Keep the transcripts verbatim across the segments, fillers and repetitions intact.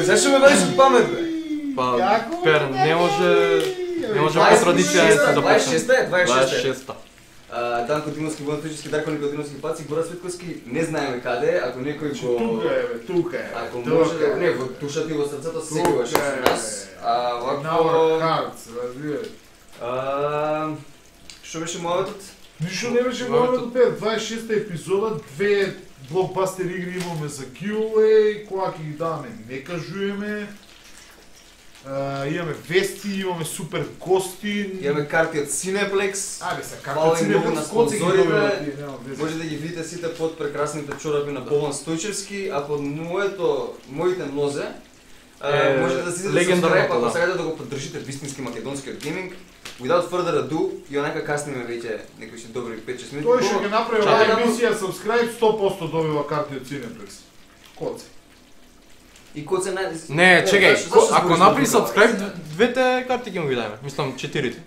Зашо ме вадиш памет, бе? Па, Пер, не може... Не може по традиција да дваесет и шеста е, дваесет и шеста. Данко Димовски, Бонатички, Дарко Никодимовски паци, Гора Светковски, не знаеме каде, ако некој го... Тука е, бе, тука е. Ако може да... Не, во душата и во срцето секогаш е со нас. А, вако... In our hearts, разбираш. Што беше мојот? Ништо не беше мојот, Пер, дваесет и шеста епизода, две блокбастер игри имаме за giveaway, која ќе ги даваме, не кажуваме. Uh, имаме вести, имаме супер гости. Имаме карти од Cineplex. Абе, са карти од Cineplex, кој се ги добивате? Може да ги видите сите под прекрасните чорапи на Богдан Стојчевски, а под моето, моите нозе, uh, може да си subscribe, ако сакате да го поддржите вистински македонскиот гейминг. Without further ado, и онака касниме веќе некои си добри пет-шест минути. Тој ќе ги направи оваа емисија, subscribe, сто проценти добива карти од Cineplex. Коце. И коце нај... Не, чекај, ако направи subscribe, двете карти ќе му ги дајме. Мислам, четирите.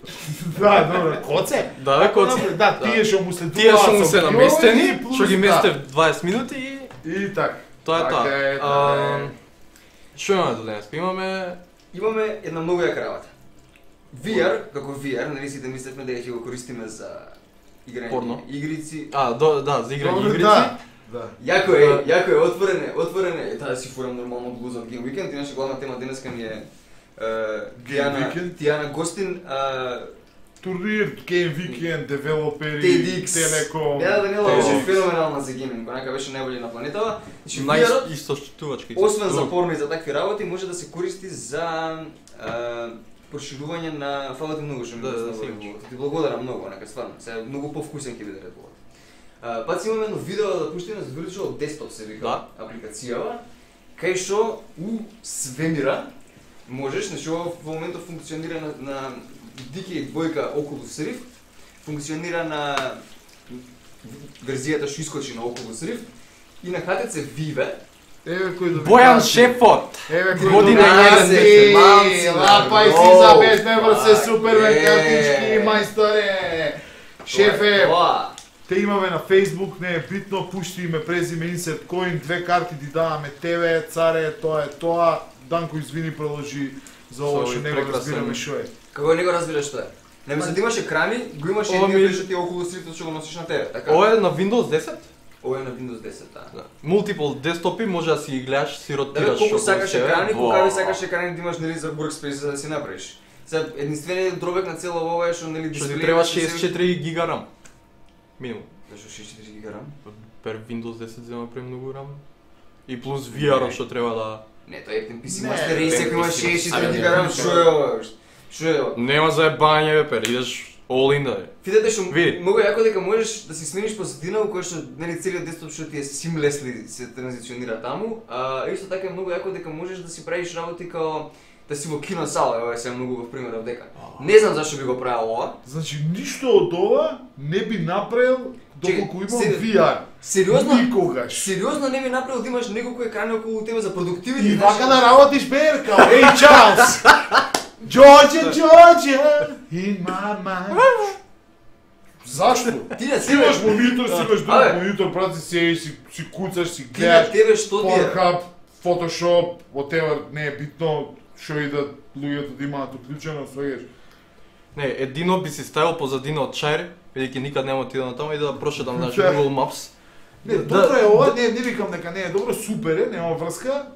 Да, добро. Коце? Да, бе, коце. Да, тие што му следуваат. Тие што му се наместени, што ги месте в дваесет минути и... И така. Тоа е тоа. Што имаме до денес? Имаме... Имаме една многу јака работа. ви ар, како ви ар, нали сите мислевме дека ќе го користиме за играње игрици. А, да, за играње игрици. Да. Јако е, јако е, отворен е, отворен е, таа си фурам нормално од Blues of Game Weekend, иначе главна тема денеска ми е Тијана, Тијана Гостин, турнир, Game Weekend, девелопери, Телеком. Да, Данила беше феноменална за гейминг, онака беше најбољи на планетава. Најистоштувачки. Освен за порно и за такви работи, може да се користи за проширување на фала ти многу што ми да, ти благодарам многу, онака стварно. Се многу повкусен ќе биде Red Bull. Uh, пат си имаме едно видео да пуштиме за Virtual Desktop се вика да. Апликацијава, кај што у свемира можеш, значи ова во моментот функционира на, на ди кей двојка Oculus Rift, функционира на верзијата што искочи на Oculus Rift и на ха те це Vive. Еве кој да Бојан Шефот. Еве кој година еден лапај си за безме врсе супермен картички мајсторе. Шефе. Те имаме на Facebook, не е битно, пушти име, презиме, insert coin, две карти ти даваме тебе, царе, тоа е тоа. Данко извини, продолжи за ова што не го разбираме што е. Како не го разбираш што е? Не мислам да имаш екрани, го имаш и ние што ти околу стрифтот што го носиш на тебе, така? Ова е на Windows десет? Ова е на Windows десет, да. Multiple десктопи може да си ги гледаш, си ротираш што. Да, колку сакаш екрани, колку сакаш екрани да имаш нели за workspace за да си направиш. Сега единствениот дробек на цело ова е што нели дисплеј ти треба шеесет и четири гига RAM. Минимум. Зашо шеесет и четири гига RAM? Пер Windows десет зема премногу RAM. И плюс ви ар што треба да... Не, тоа е пи си Master Race, ако имаш шеесет и четири гига RAM, што е ова? Што е ова? Нема заебање, бе, пер, идеш all in да е. Видете што многу јако дека можеш да си смениш позадина во која што нели целиот десктоп што ти е seamlessly се транзиционира таму, а исто така е многу јако дека можеш да си правиш работи као да си во киносала, ова е сега многу во пример од дека. Не знам зашто би го правил ова. Значи ништо од ова не би направил доколку имам ви ар. Сериозно? Никогаш. Сериозно не би направил да имаш неколку екрани околу тебе за продуктивити. И вака да работиш берка. Ей, Чарлс. Джорџе, Джорџе, in my mind. Зашто? Ти на тебе имаш монитор, си имаш друг монитор, брат, си седиш, си, си куцаш, си гледаш. Ти на тебе што ти е? Pornhub, Photoshop, whatever, не е битно, што и да луѓето да имаат уклучено, свегаш. Не, едино би си ставил позадина од чајр, бидејќи никад нема отида на таму и да прошетам на Google Maps. Не, добро е ова, не, не викам дека не е добро, супер е, нема врска.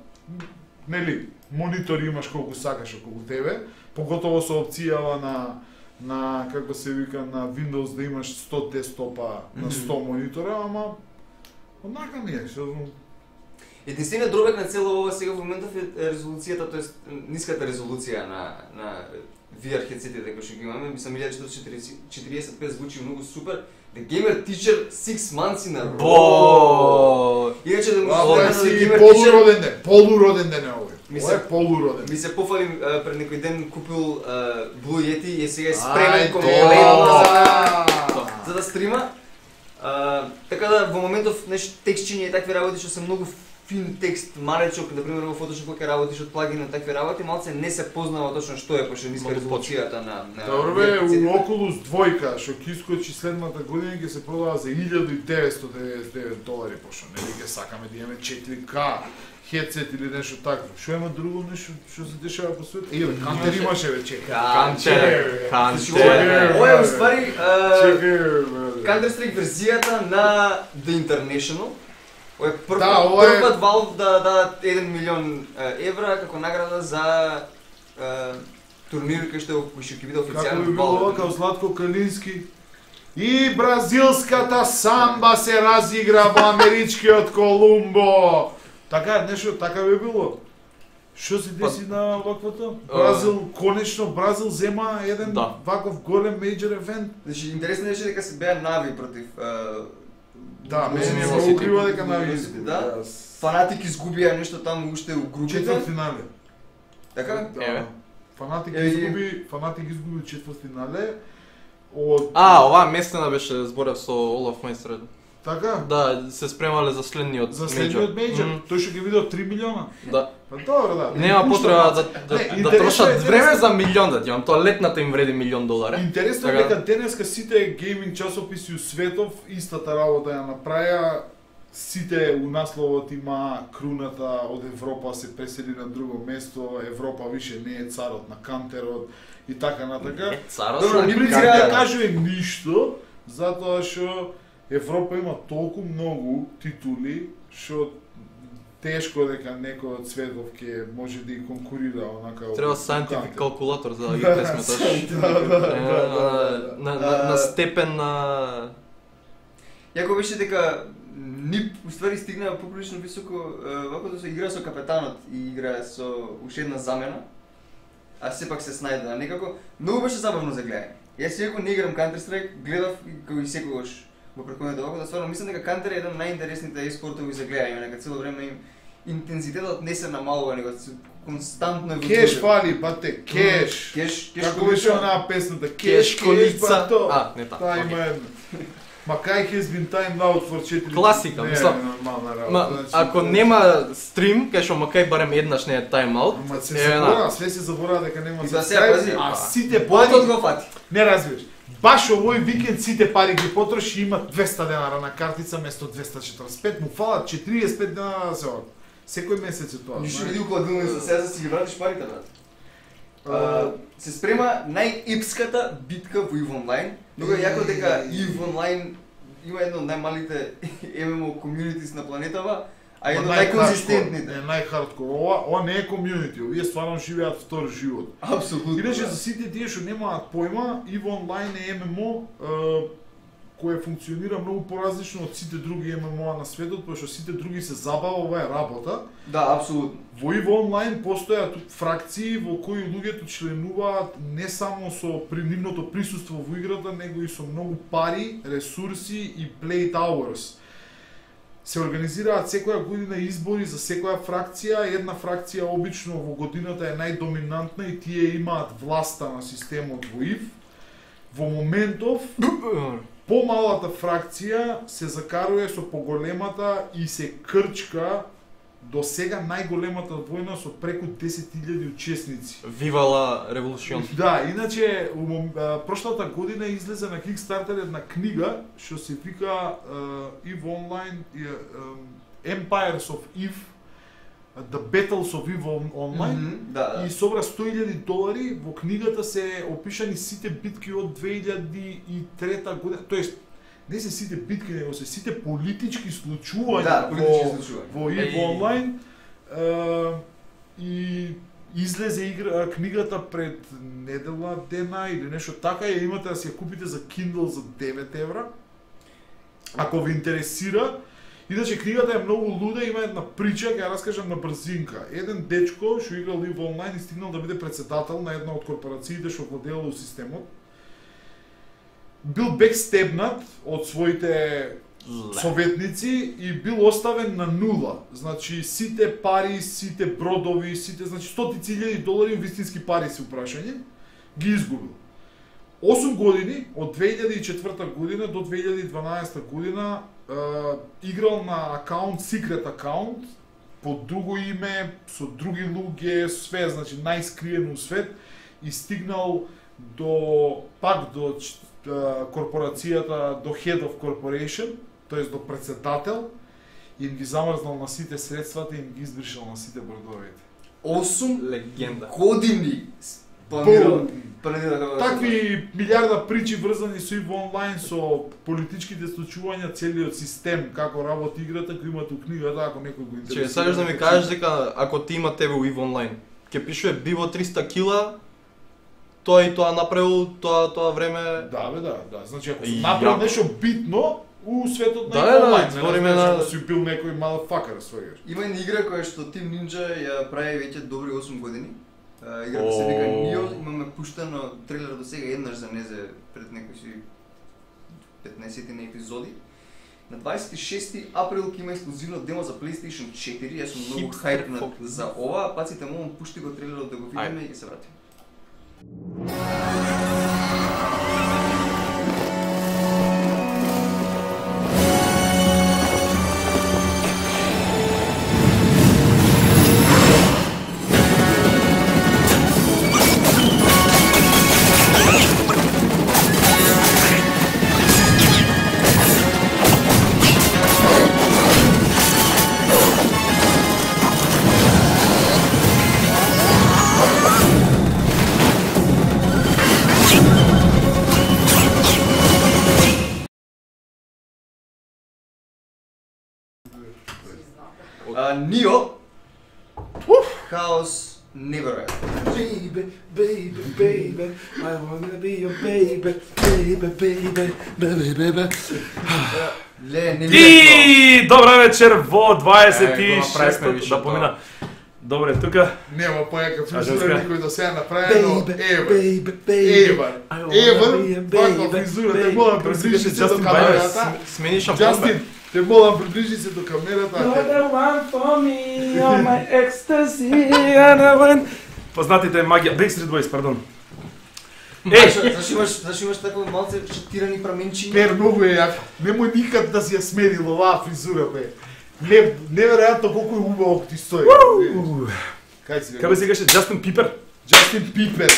Нели, монитор имаш колку сакаш околу тебе, поготово со опцијава на на како се вика на Windows да имаш сто десктопа на сто монитора, ама однака ми е, што Единствениот дробек на цело ова сега во моментов е резолуцијата, тоест ниската резолуција на на ви ар хедсетите кои што ги имаме. Мислам илјада четиристотини четириесет и пет звучи многу супер. The Gamer Teacher six months in a row. Бо. Иначе да му Ова се си полуроден ден, полуроден ден е овој. Ова е полуроден. Ми се пофалим пред некој ден купил Blue Yeti и сега е спремен кон за да стрима. Така да во моментов нешто текстчиња и такви работи што се многу фин текст, маречок, например во Photoshop кога работиш од плагин на такви работи, малце не се познава точно што е, пошто ниска резолуцијата на на Добро бе, у Oculus двојка што ќе искочи следната година ќе се продава за илјада и деветстотини деветдесет и девет долари, пошто нели ќе сакаме да имаме четири К хедсет или нешто такво. Што има друго нешто што се дешава по светот? Еве, Кантер имаше вече. Кантер, Кантер. Ова е уствари Counter Strike верзијата на The International. Ова е прв пат Valve да дадат еден милион евра како награда за турнир кој што ќе биде официјално. Како би било ова као Златко Калински? И бразилската самба се разигра во америчкиот Колумбо. Така, нешто така би било. Што се деси на ваквото? Бразил, конечно, Бразил зема еден ваков голем мејџор евент. Значи, интересно е дека се беа Нави против Да, мене не се укрива дека Нави да. Фанатик изгубија нешто таму уште у групите. Четвртфинале. Така? Да. Фанатик изгуби, Фанатик изгуби четвртфинале. Од А, оваа местена беше зборев со Олаф Мајстер. Така? Да, се спремале за следниот За следниот мејџор. Тој што ги видел три милиона. Да. Па добро, да. Нема потреба да да, да трошат време за милион да ти тоа летната им вреди милион долари. Интересно е дека денеска сите гейминг часописи у светов истата работа ја направија. Сите у насловот има круната од Европа се пресели на друго место, Европа више не е царот на Кантерот и така натака. Не царот Добро, на не би Кантерот. да кажува ништо, затоа што Европа има толку многу титули што тешко дека некој од светов ќе може да ги конкурира онака. Треба scientific калкулатор за да ги пресметаш. Да, да, да. На на степен на Јако беше дека нип уствари стигнаа поприлично високо вако да се игра со капетанот и игра со уште една замена. А сепак се снајде некако. Многу беше забавно за гледање. Јас иако не играм Counter Strike, гледав како и секогаш во претходните вако да стварно мислам дека Counter е еден од најинтересните еспортови за гледање, дека цело време им интензитетот не се намалува, него константно е Кеш фали, пате, кеш. Кеш, кеш Како беше онаа песната? Кеш колица. то. А, не така. Та има едно. Ма кај has been timed out for четири. Класика, не, мислам. нормална работа. Ма, значи, ако тоа- нема стрим, кај што макај барем еднаш не е тайм-аут. Ама се е, забора, све се забора дека нема И да се subscribe, пази, а па. сите Ботот пари го фати. не разбираш. Баш овој викенд сите пари ги потроши, има двеста денара на картица место двеста четиридесет и пет, му фалат четириесет и пет денара да се од. Секој месец е тоа. Ништо знаеш. види околу дилни за сега си ги вратиш парите, брат. А, А, се спрема најепската битка во EVE Online. Многу е јако дека EVE Online има едно од најмалите ем ем о комјунитис на планетава, а едно од најконзистентните. Е најхардкор. Ова, ова не е комјунити, овие стварно живеат втор живот. Апсолутно. Иначе за сите тие што немаат појма, EVE Online е ем ем о е, кој функционира многу поразлично од сите други ем ем о на светот, пошто сите други се забава, ова е работа. Да, апсолутно. Во EVE Online постојат фракции во кои луѓето членуваат не само со нивното присуство во играта, него и со многу пари, ресурси и play hours. Се организираат секоја година избори за секоја фракција, една фракција обично во годината е најдоминантна и тие имаат власта на системот во EVE. Во моментов помалата фракција се закарува со поголемата и се крчка до сега најголемата војна со преку десет илјади учесници. Вивала револуцион. Да, иначе у мом- а, прошлата година излезе на Kickstarter една книга што се вика uh, EVE Online uh, Empires of EVE, The Battles of EVE On- Online. Мгм, да, да. И собра сто илјади долари, во книгата се опишани сите битки од две илјади и трета година, тоест не се сите битки, него се сите политички случувања Да, политички во, случувања. во EVE Еј. Online. Е, и излезе игра, книгата пред недела дена или нешто така, ја имате да се ја купите за Kindle за девет евра. Ако ви интересира, Иначе книгата е многу луда, има една прича, ќе ја раскажам на брзинка. Еден дечко што играл EVE Online и стигнал да биде председател на една од корпорациите што владеело системот. Бил бекстебнат од своите советници и бил оставен на нула. Значи сите пари, сите бродови, сите, значи стотици илјади долари вистински пари се упрашање, ги изгубил. осум години, од две илјади и четврта година до две илјади и дванаесета година, е, играл на акаунт, секрет акаунт, под друго име, со други луѓе, све, значи најскриено свет, и стигнал до, пак до е, корпорацијата, до Head of Corporation, тоест до председател, и им ги замрзнал на сите средствата и им ги избришал на сите бродовите. осум легенда години планирал. Такви милиарда причи врзани со EVE Online, со политичките случувања, целиот систем, како работи играта, кој имате у книгата, ако некој го интересира. Че сакаш да ми кажеш дека ако ти има тебе у EVE Online, ќе пишува биво триста кила, тоа и тоа направил тоа тоа време. Да, бе, да, да. Значи ако си направил нешто битно у светот на да, EVE Online, да, збориме на да си бил некој motherfucker својаш. Има една игра која што Team Ninja ја прави веќе добри осум години. Играта се вика Nioh, имаме пуштено трейлер до сега еднаш за незе пред некои си петнаесет на епизоди. На дваесет и шести април ќе има ексклузивно демо за PlayStation четири, јас сум многу хајпнат за ова, паците момент пушти го трейлерот да го видиме и ќе се вратиме. Nioh, Chaos Neverwhere. Baby, baby, baby, I wanna be your baby, baby, baby, baby, baby. Ле, не И добра вечер во дваесет и шесто више да помина. Добре, тука Нема појака фризура женска? никој до сега направено. Baby, Ева. baby, baby. Ева. I wanna be a Ева. Паква baby, фризура, те baby. молам Просто приближи беше се до Justin камерата. Смени шампон. Джастин, те молам приближи се до камерата. You're the one for me, you're my ecstasy, and I want... Познатите магија, Backstreet Boys, пардон. Е, зашо имаш, зашо имаш такво малце шатирани праменчиња? Пер многу е јак. Немој никад да си ја сменил оваа фризура, бе. Не, неверојатно колку е убаво ти стои. Кај си? Кај бе се каже Джастин Пипер? Джастин Пипер.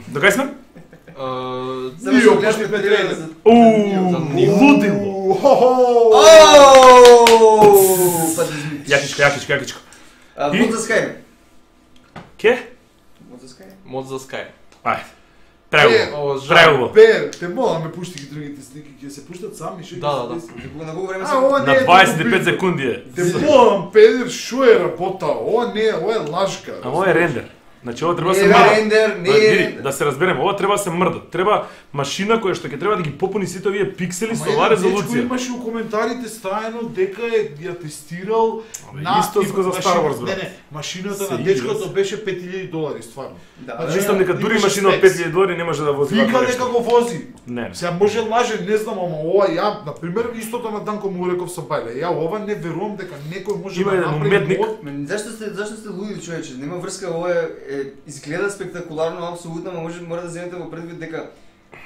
До кај сме? Нио, пошли Петреје. Ууу, лудило. Јакичка, јакичка, јакичка. Мод за Skyrim. Ке? Мод за Skyrim. Мод за Sky. Ајде. Преубаво. Преубаво. Пер, те молам ме пушти ги другите слики, ќе се пуштат сами, шо? Да, да, да. На колку време А, се... ова не На е дваесет и толку пет битно. секунди е. Те молам, Педер, шо е работа? Ова не е, ова е лажка. А ова е рендер. Значи ова треба да Не се е мрда. рендер, не Ба, е види, рендер. да се разберем, ова треба да се мрда. Треба машина која што ќе треба да ги попуни сите овие пиксели со оваа резолуција. Имаше у коментарите стајано дека е ја тестирал Абе, исто типа, за Star Wars, машина- брат. Не, не, машината Се на игра, дечкото се. беше пет илјади долари, стварно. Да, Значи, да, Мислам дека дури имаше машина од спекс. пет илјади долари не може да вози Вика вакво дека нешто. го вози. Не. Сега може лаже, не знам, ама ова ја, на пример, истото на Данко му реков со Бајле. Ја ова не верувам дека некој може Има да еден направи уметник. мод. Ме, зашто сте зашто сте луѓе, човече? Нема врска, ова е, е изгледа спектакуларно апсолутно, ама може мора да земете во предвид дека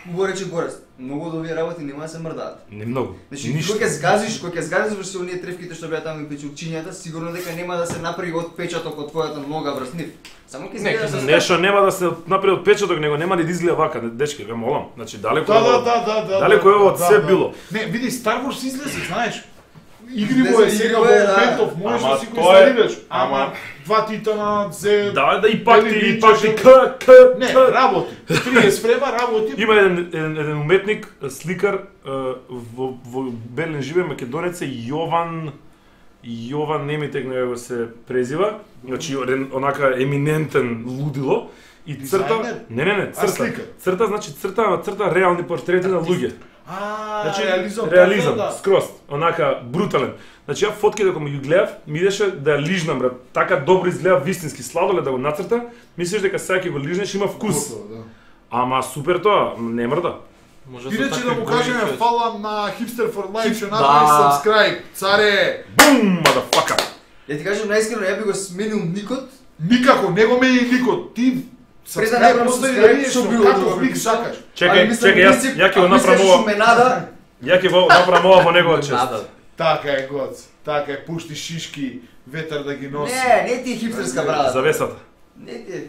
убаво рече Горест. Многу од овие работи нема да се мрдаат. Не многу. Значи, Ништо. кога ќе згазиш, кога ќе згазиш врз оние тревките што беа таму и печурчињата, сигурно дека нема да се направи отпечаток од твојата нога врз нив. Само ќе изгледа со Нешто нема да се направи од печаток, него нема да изгледа вака, дечки, ве молам. Значи далеко Да, е да, ова- да, да, да. Далеко да, е ова од да, се да. било. Не, види, Star Wars излезе, знаеш. Игри Излезе во е сега во игри, да. моментов, можеш Ама да си го тоа е- инсталираш. ама- Ама два титана, зе... Да, да и пак ти, Дали и пак ти вичаш, к, к, Не, к. работи. триесет фрема работи. Има еден, еден, еден уметник, сликар е, во, во Берлин живе македонец е Јован Јован Немитек него се презива. Значи еден онака еминентен лудило и црта Дизајнер? Не, не, не, А, црта. сликар? Црта значи црта, црта реални портрети на луѓе. А, Значи, реализам, реализам, да. скроз, онака брутален. Значи ја фотките кога ги гледав, ми идеше да ја лижнам, брат. Така добро изгледа вистински сладолед да го нацрта, мислиш дека сега ќе го лижнеш има вкус. Готово, да. Ама супер тоа, не мрда. Може Иначе да му кажеме фала на Hipster for Life, што Да. направи subscribe, царе. Бум, motherfucker. Ја ти кажам наискрено, ја би го сменил никот. Никако, не го мени никот. Ти Пред да направам постави subscribe, да што што било како друго лик припишано. сакаш. Чекај, чекај, јас ја ќе го направам ова. Шуменада. Ја ќе го направам ова во негова чест. Така е, гоц. Така е, пушти шишки, ветар да ги носи. Не, не ти е хипстерска брада. Завесата. Не ти е.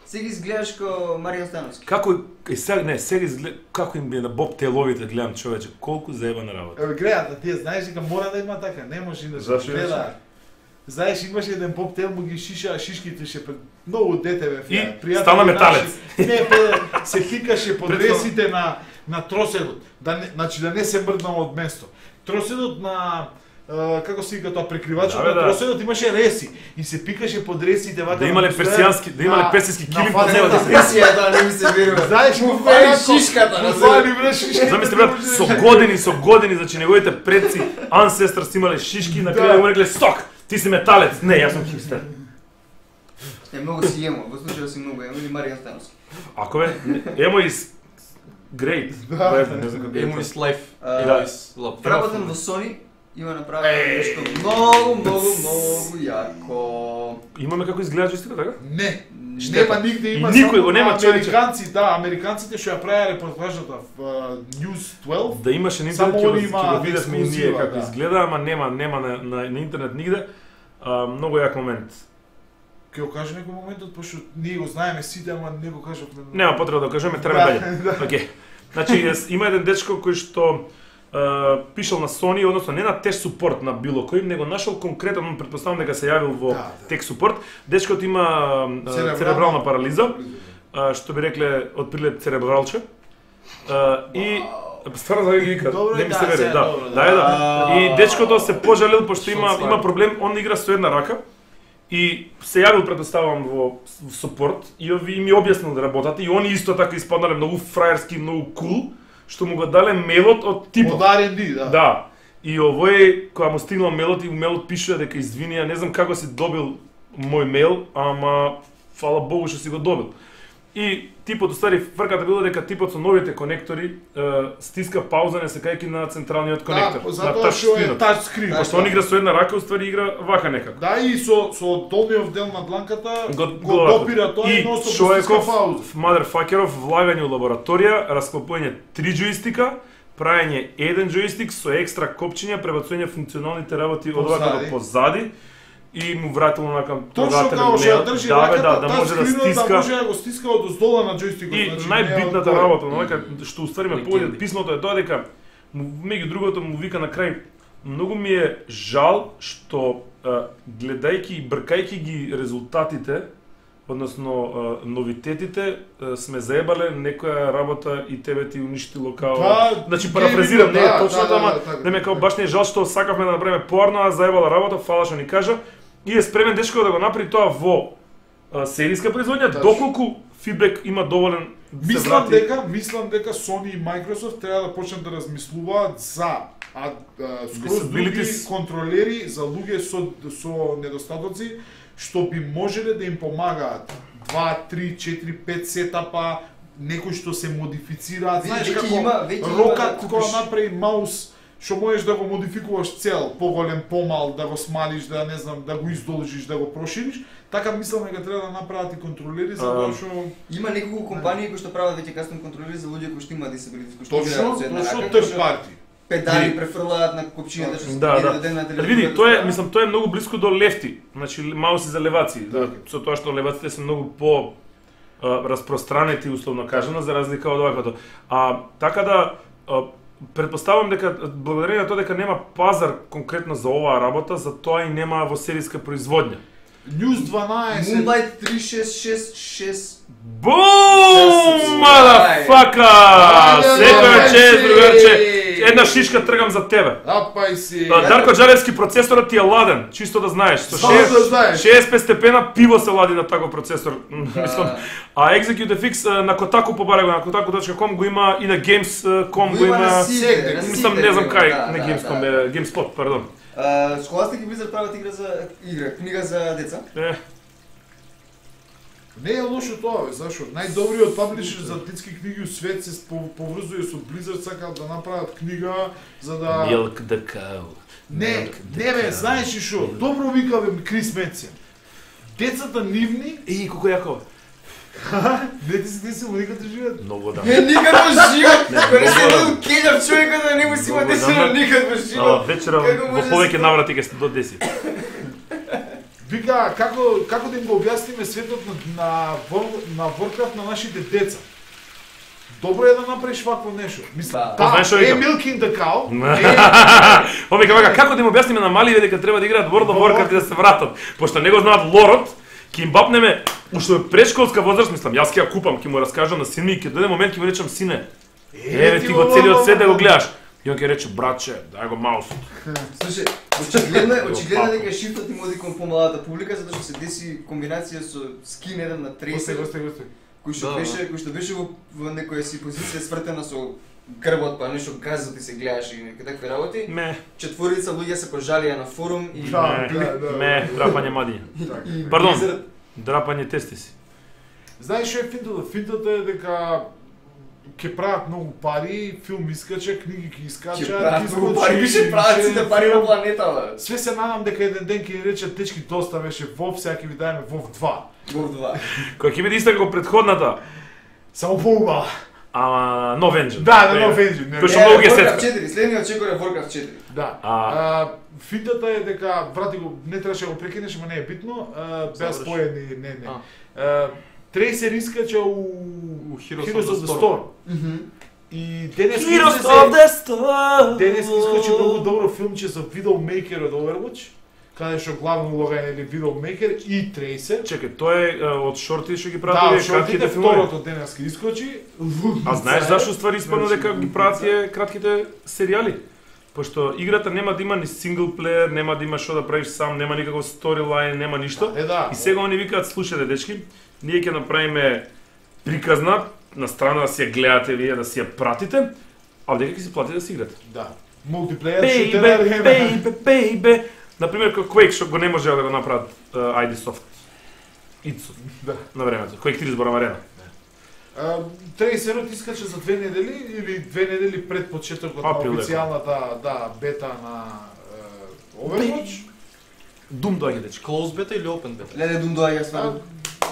Сега изгледаш ко Маријан Становски. Како е сега не, сега изгледа како им би на Боб Теловите гледам човече, колку заебана работа. Еве гледа, ти знаеш дека мора да има така, не може да Зашо се гледа. Знаеш, имаше еден поп тел му ги шиша шишките ше пред многу дете бе. И пријатели стана наши. металец. Не, бе, се пикаше под ресите на на троседот. Да не, значи да не се мрднало од место. Троседот на Uh, како се вика тоа прекривачот да, на да. троседот имаше реси и се пикаше под ресите вака. Да имале персијански, да имале персиски килим под него да се. Персија не ми се верува. Знаеш, му му фали фали шишката, му разбираш. фали бре шишката. Замисли брат, со години, со години, значи неговите предци, ancestors имале шишки, на крај Да. му рекле сток, ти си металец. Не, јас сум хипстер. Е, многу си емо, во случајот си многу емо или Маријан Становски. Ако бе, емо is great. Да. Whatever, не знам како Емо е. is life. А, Емо is love. Вработен во Sony има направено нешто многу, многу, многу јако. Имаме како изгледа джойстикот, така? Не. Штета. Нема нигде, има И никој само го нема, на човече. американци, да, американците што ја правеа репортажата в uh, News дваесет. Да имаше на Само интернет, ќе го, они ќе го имаат видевме и ние ексклузива, како да. изгледа, ама нема, нема на, на, на интернет нигде. А, многу јак момент. Ќе го кажа некој моментот, пошто ние го знаеме сите, ама не го кажавме. Нема потреба да го кажеме, треба дале. Да. Океј. Значи, јас- има еден дечко кој што Uh, пишал на Sony, односно не на теч супорт на било кој, него нашол конкретно, предпоставам дека се јавил во Да, да. теч супорт. Дечкот има uh, Церебрална- церебрална парализа, uh, што би рекле од прилет церебралче. Uh, и стварно да ги вика, Добро е, не ми да, се вере, се, да. добро, да. Да, е, да. И дечкото се пожалил пошто има Шот има фајр. проблем, он игра со една рака. И се јавил предоставам во в супорт и ови и ми објаснил да работат и они исто така испаднале многу фраерски, многу кул, што му го дале мейлот од типот. Од Ар енд Ди, да. Да. И овој кога му стигнал мейлот и мейлот пишува дека извини, ја не знам како си добил мој мейл, ама фала Богу што си го добил. И типот уствари фрката било дека типот со новите конектори е, стиска пауза не секајќи на централниот конектор, Да, на затоа што е тачскринот. тач скрин. Пошто он игра со една рака, уствари игра вака некако. Да, и со со долниот дел на дланката Го, го допира тоа и и носно стиска човеков, пауза. мадерфакеров, влагање у лабораторија, расклопување три джойстика, правење еден джойстик со екстра копчиња, пребацување функционалните работи од Позади. вака до позади и му вратило на към Точно како што ја држи да, бе, раката, да, да тач може да скринот стиска. да може да го стиска од оздола на џојстикот. И значи, најбитната не е од работа, на вака што уствари ме Легенди. повеќе писмото е тоа дека му- меѓу другото му вика на крај многу ми е жал што а, гледајќи и бркајќи ги резултатите, односно а, новитетите, а, сме заебале некоја работа и тебе ти уништило као. Да, Значи парафразирам, не е да, точно да, да, ама да, така, не ме као така. баш не е жал што сакавме да направиме поарно, а заебала работа, фала што ни кажа. И е спремен дечко да го направи тоа во а, серијска производња, Тачно. доколку фидбек има доволен да се Мислам врати. дека, мислам дека Sony и Microsoft треба да почнат да размислуваат за а, а, скроз други Disabilities. контролери за луѓе со со недостатоци што би можеле да им помагаат два, три, четири, пет сетапа, некои што се модифицираат. Веќе- Знаеш веќе како има- веќе има рокат да кога купиш. направи маус што можеш да го модификуваш цел, поголем, помал, да го смалиш, да не знам, да го издолжиш, да го прошириш, така мислам дека треба да направат и контролери за тоа А, што Има неколку компании кои што прават веќе кастом контролери за луѓе кои што имаат disabilities, кои што точно, играат со една точно рака, third кои што party. педали Види. префрлаат на копчињата што се Да, да. даден на телевизија. Види, тоа е, мислам, тоа е многу близко до лефти. Значи мауси за леваци, да, Така. со тоа што леваците се многу по а, распространети условно кажано за разлика од оваквото. А така да а, предпоставам дека благодарение на тоа дека нема пазар конкретно за оваа работа, за тоа и нема во серијска производња. News дванаесет. Moonlight три шест шест шест. Бум! Мадафака! Секоја чест, другарче. Една шишка тргам за тебе. Апај си. Дарко Джалевски, процесорот ти е ладен, чисто да знаеш. Со шеесет и пет степена пиво се лади на таков процесор. Мислам, а Execute F X на Kotaku побаре го, на kotaku точка com го има и на Games точка com го има. Мислам, не знам кај, не Games точка com, GameSpot, пардон. Scholastic и Blizzard прават игра за игра, книга за деца. Не е лошо тоа, бе, зашо? Најдобриот паблишер за детски книги у свет се поврзува со Blizzard, сакаат да направат книга за да Milk the cow. Не, не бе, знаеш ли шо? Добро вика бе Крис Метсен. Децата нивни, И колку јако. не ти си десил никаде живеат. Многу да. Не, никад во живот! Кога се еден кењав човекот да не му си има десено никад во живот. Вечера во повеќе наврати ќе сте до десет. Вика, како, како да им го објасниме светот на, на, на Warcraft на нашите деца? Добро е да направиш вакво нешто. Мислам, да, е Milking the Cow. Овие вака, како да им објасниме на маливе дека треба да играат World of Warcraft и да се вратат, пошто не го знаат лорот, ќе им бапнеме уште од предшколска возраст, мислам, јас ќе ја купам, ќе му раскажам на син ми, ќе дојде момент ќе му речам сине. Еве ти го целиот свет да го гледаш. И он ќе рече, братче, дај го маусот. Слушай, очигледно е, очигледно дека шифтот им оди кон помладата публика, затоа што се деси комбинација со скин еден на тридесет. Госте, госте, госте. Кој што беше, кој што беше во, во некоја си позиција свртена со грбот, па нешто газот и се гледаш и некои такви работи. Ме. Четворица луѓе се пожалија на форум и Да, да, да. Ме, драпање мадиња. Пардон, драпање тестиси. Знаеш што е финтата? Финтата е дека ќе прават многу пари, филм искача, книги ќе искачат, ќе прават многу пари, више прават сите пари на планетава. Све се надам дека еден ден ќе ни речат дечки доста беше WoW, сега ќе ви дајме WoW два. WoW два. Која ќе биде иста како претходната. Само поубава. Ама No Vengeance. Да, да, No Vengeance. Кој што многу ги сетка. четири, следниот чекор е Warcraft четири. Да. А финтата е дека брати го не требаше да го прекинеш, ама не е битно. Беа споени, не, не. Трейсер искача у Heroes of the Storm. И денес Heroes of the Storm. Денес искачи многу добро филмче за Widowmaker од Overwatch, каде што главна улога е Widowmaker и Трейсер. Чекај, тој е од шорти што ги Да, прават кратките второто денес искачи. А знаеш зашто ствари испадна дека ги прават тие кратките серијали? Пошто играта нема да има ни сингл плеер, нема да има што да правиш сам, нема никаков сторилайн, нема ништо. Е, да. И сега они викаат, слушајте дечки, ние ќе направиме приказна на страна да си ја гледате вие, да си ја пратите, а дека ќе си платите да си играте. Да. Мултиплеер Baby, шутер. baby, baby. Например, како Quake што го не можеа да го направат uh, ай ди Soft. Ицо. Да. На времето. Quake три зборам арена. Трейсерот искача за две недели или две недели пред почетокот на официјалната да бета на Overwatch. Doom доаѓа дечки. Close beta или open beta? Леле Doom доаѓа стварно.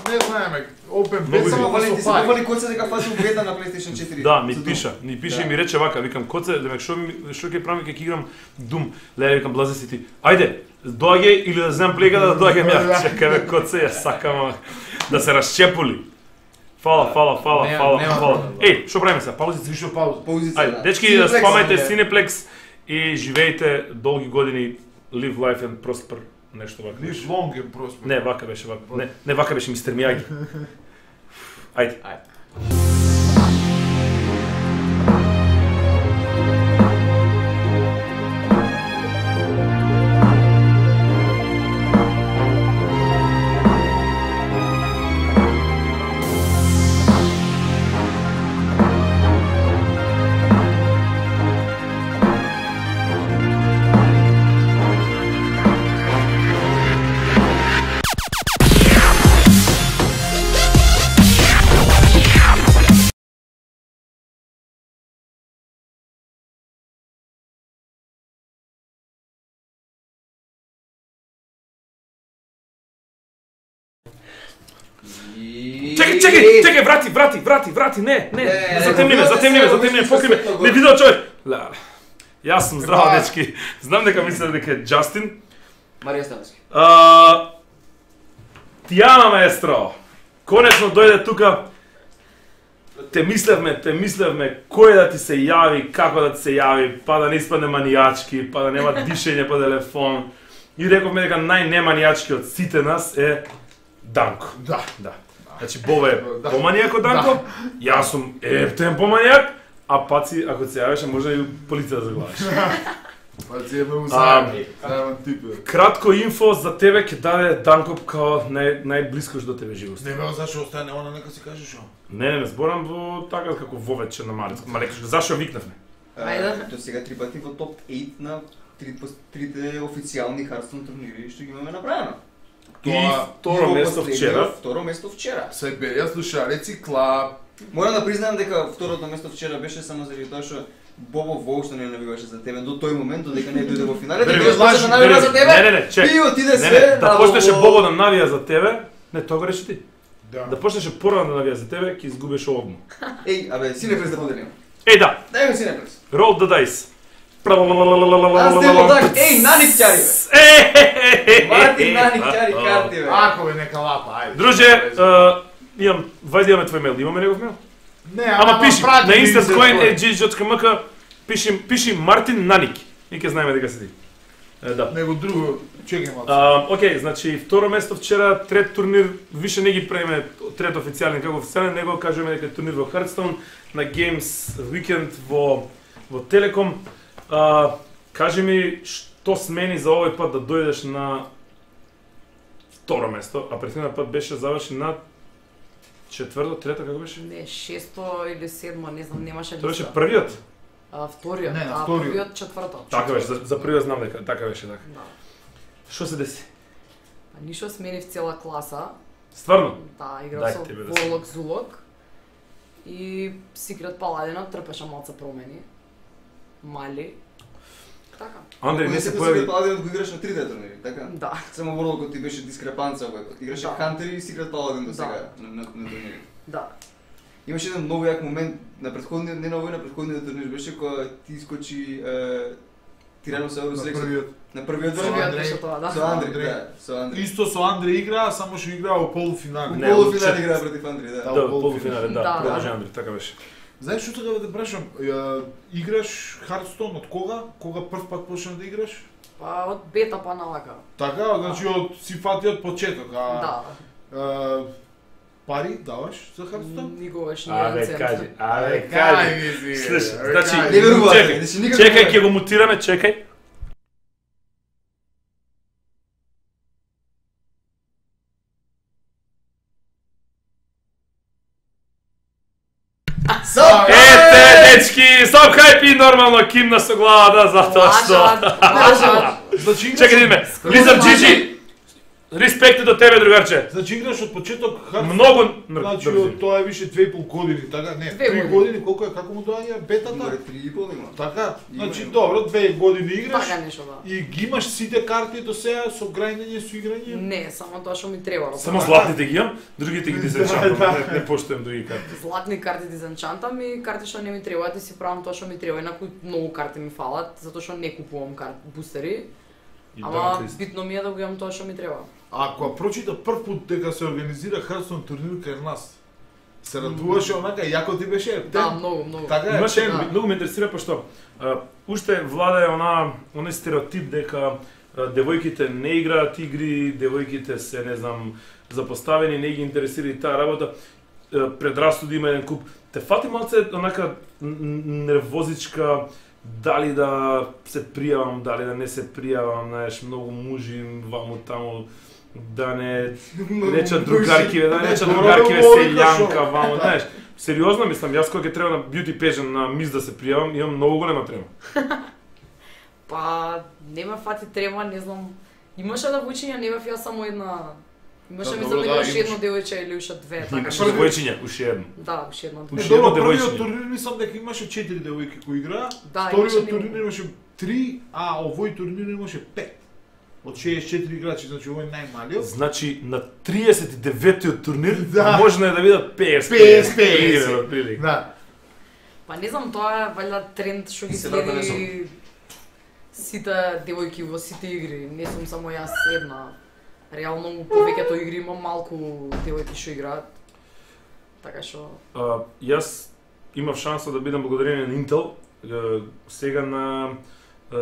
Не знаеме. Open Бета beta само со Валенти се пари. говори кој се дека фази бета на PlayStation четири. Да, ми пиша, ми пиша и ми рече вака, викам коце, демек што ми што ќе правам ќе играм Doom. Леле викам блазе си ти. Ајде, доаѓај или да земам плега да доаѓам ја. Чекај бе коце, ја сакам да се расчепули. Фала, фала, фала, фала, фала. Еј, што правиме сега? Паузица, Вишо пауза. Паузица. Ајде, дечки, спамајте Cineplex и живеете долги години, live life and prosper, нешто вака. Live long and prosper. Не, вака беше вака. Не, не вака беше мистер Мияги. Ајде. Ајде. Чекај, чекај, чекај, врати, врати, врати, врати, не, не, затемни ме, затемни ме, затемни ме, покри ме, не видел човек. Леле, јас сум здраво, дечки, знам дека мисле дека е Џастин. Марија Станевски. Тијана маестро, конечно дојде тука, те мислевме, те мислевме, кој да ти се јави, како да ти се јави, па да не испадне манијачки, па да нема дишење по телефон. И рековме дека најнеманијачки од сите нас е Данко. Да. Да. Значи Бобо е поманијак од Данко, јас сум ептен поманијак, а Паци ако се јавеше може и полиција да заглавиш. Паци е многу зајавен тип. Кратко инфо за тебе ќе даде Данко као нај најблиско до тебе живост. Не ме зашо остане она нека си кажеш што. Не, не, не зборам во така како вовече на Марицко. Ма рекаш зашо викнавме? Ајде, до сега три пати во топ осем на трите официјални Hearthstone турнири што ги имаме направено. И второ место вчера. Второ место вчера. Се беја слушалеци клаб. Морам да признаам дека второто место вчера беше само заради тоа што Бобо воопшто не навиваше за тебе до тој момент додека не дојде во финалите. Ти почнеш да навива за тебе. Не, не, не, чек. И отиде не, се. Да почнеше Бобо да навија за тебе. Не, тоа го реши ти. Да. Да почнеше порано да навија за тебе, ќе изгубиш одмо. Еј, абе, Синепрес да поделиме. Еј да. Дај ми Синепрес. Roll the dice. Аз темо так, еј, Наник ќари бе. Мартин Наник ќари карти бе. Ако бе нека лапа, ајде. Друже, имам, вајде имаме твој мейл, имаме негов мейл? Не, ама пиши, на instantcoin точка джи точка ем ка пиши, пиши Мартин Наник и ќе знаеме дека си ти. Е, да. Него друго, чекај малку. Окей, значи второ место вчера, трет турнир, више не ги преме трет официјален како официјален, него кажеме дека е турнир во Hearthstone на Games Weekend во во Телеком. А, кажи ми што смени за овој пат да дојдеш на второ место, а претходниот пат беше заврши на четврто, трето, како беше? Не, шесто или седмо, не знам, немаше листа. Тоа беше првиот? А, вториот, Не, на а вториот. првиот четврто. Така беше, за, за првиот знам дека така беше така. Да. Што се деси? Па ништо сменив цела класа. Стварно? Да, играв Дај со тебе да си. Волок Зулок. И Секрет Паладина трпеше малку промени. Мали. Така. Андреј не се Секој појави. Паладин го играш на трите турнири, така? Да. Само Ворлокот ти беше дискрепанца овој пат. Играше Да. Хантер и Секрет Паладин до Да. сега на на, на турнири. Да. Имаше еден многу јак момент на претходниот, не на овој, на претходниот турнир беше кога ти искочи е, Тираносаурус На Рекс првиот. на првиот Со турнир. Првиот Андреј. беше тоа, да. Со Андреј, Андреј. да, со Андреј. Исто со Андреј игра, само што игра во полуфинале. Не, Полуфинал чет- игра против Андреј, да. Да, полуфинале, да, Да, продолжи да. Андреј, така беше. Знаеш што треба да те прашам? Ја, играш Hearthstone од кога? Кога прв пат почна да играш? Па од бета па навака. Така, значи од си фати од почеток, а Да. а, пари даваш за Hearthstone? Никогаш не Абе, еден цент. кажи, абе, Ајде, кажи. кажи, Слушай, абе, значи, кажи. Не верувате, чекај, значи никако чекај, не ќе го мутираме, чекај. Сап! Ете, дечки, сам хајпи нормално кимна со главата затоа што. Лажат, лажат. Значи играш Чекај да видиме. Лизар Джиджи. Респекти до тебе, другарче. Значи играш од почеток Hearthstone. Многу Значи од тоа е више две и пол години, така? Не, Две три години. години, колку е, како му доаѓа бетата? Море три и пол има. Така? Има, Значи има. добро, две години играш. Така нешто, да. И ги имаш сите карти до сега со грајнење, со играње? Не, само тоа што ми треба. Само златните ги имам, другите ги дизенчантам. Да, да. Не, не поштуем други карти. Златни карти дизенчантам и карти што не ми требаат и си правам тоа што ми треба. Инаку многу карти ми фалат, затоа што не купувам карти бустери. И Ама да, Кристо. битно ми е да го имам тоа што ми треба. А кога прочита прв пат дека се организира Hearthstone турнир кај нас, се радуваше онака, јако ти беше? Да, многу, многу. Така е, Имаше, тем, да. многу ме интересира пошто а, уште владае она оној стереотип дека а, девојките не играат игри, девојките се не знам запоставени, не ги интересира и таа работа. А, предрасуди има еден куп. Те фати малце онака н- н- нервозичка дали да се пријавам, дали да не се пријавам, знаеш, многу мужи ваму таму да не речат другарки, да не речат Добро другарки да се говориш, јанка шо? ваму, знаеш. Сериозно мислам, јас кога ќе треба на бјути пежен на мис да се пријавам, имам многу голема трема. Па не ме фати трема, не знам. Имаше да вучиња, не бев јас само една. Имаше Да, мислам добро, дека да, уште имаш. едно девојче или уште две, така. Имаш први- девојчиња, уште едно. Да, уште едно. Е, Уште добро, едно првиот девојчиње. турнир мислам дека имаше четири девојки кои играа, Да, вториот имаше турнир немалку. имаше три, а овој турнир имаше пет. Од шеесет и четири играчи, значи овој е најмалиот. Значи на триесет и деветиот турнир Да. можно е да видат петдесет петдесет, игри, петдесет. отприлика. Да. Па не знам, тоа е валјда тренд што ги Се врата не следи сите девојки во сите игри. Не сум само јас една. Реално у повеќето игри има малку девојки што играат. Така што А, јас имав шанса да бидам благодарение на Intel, е, сега на е,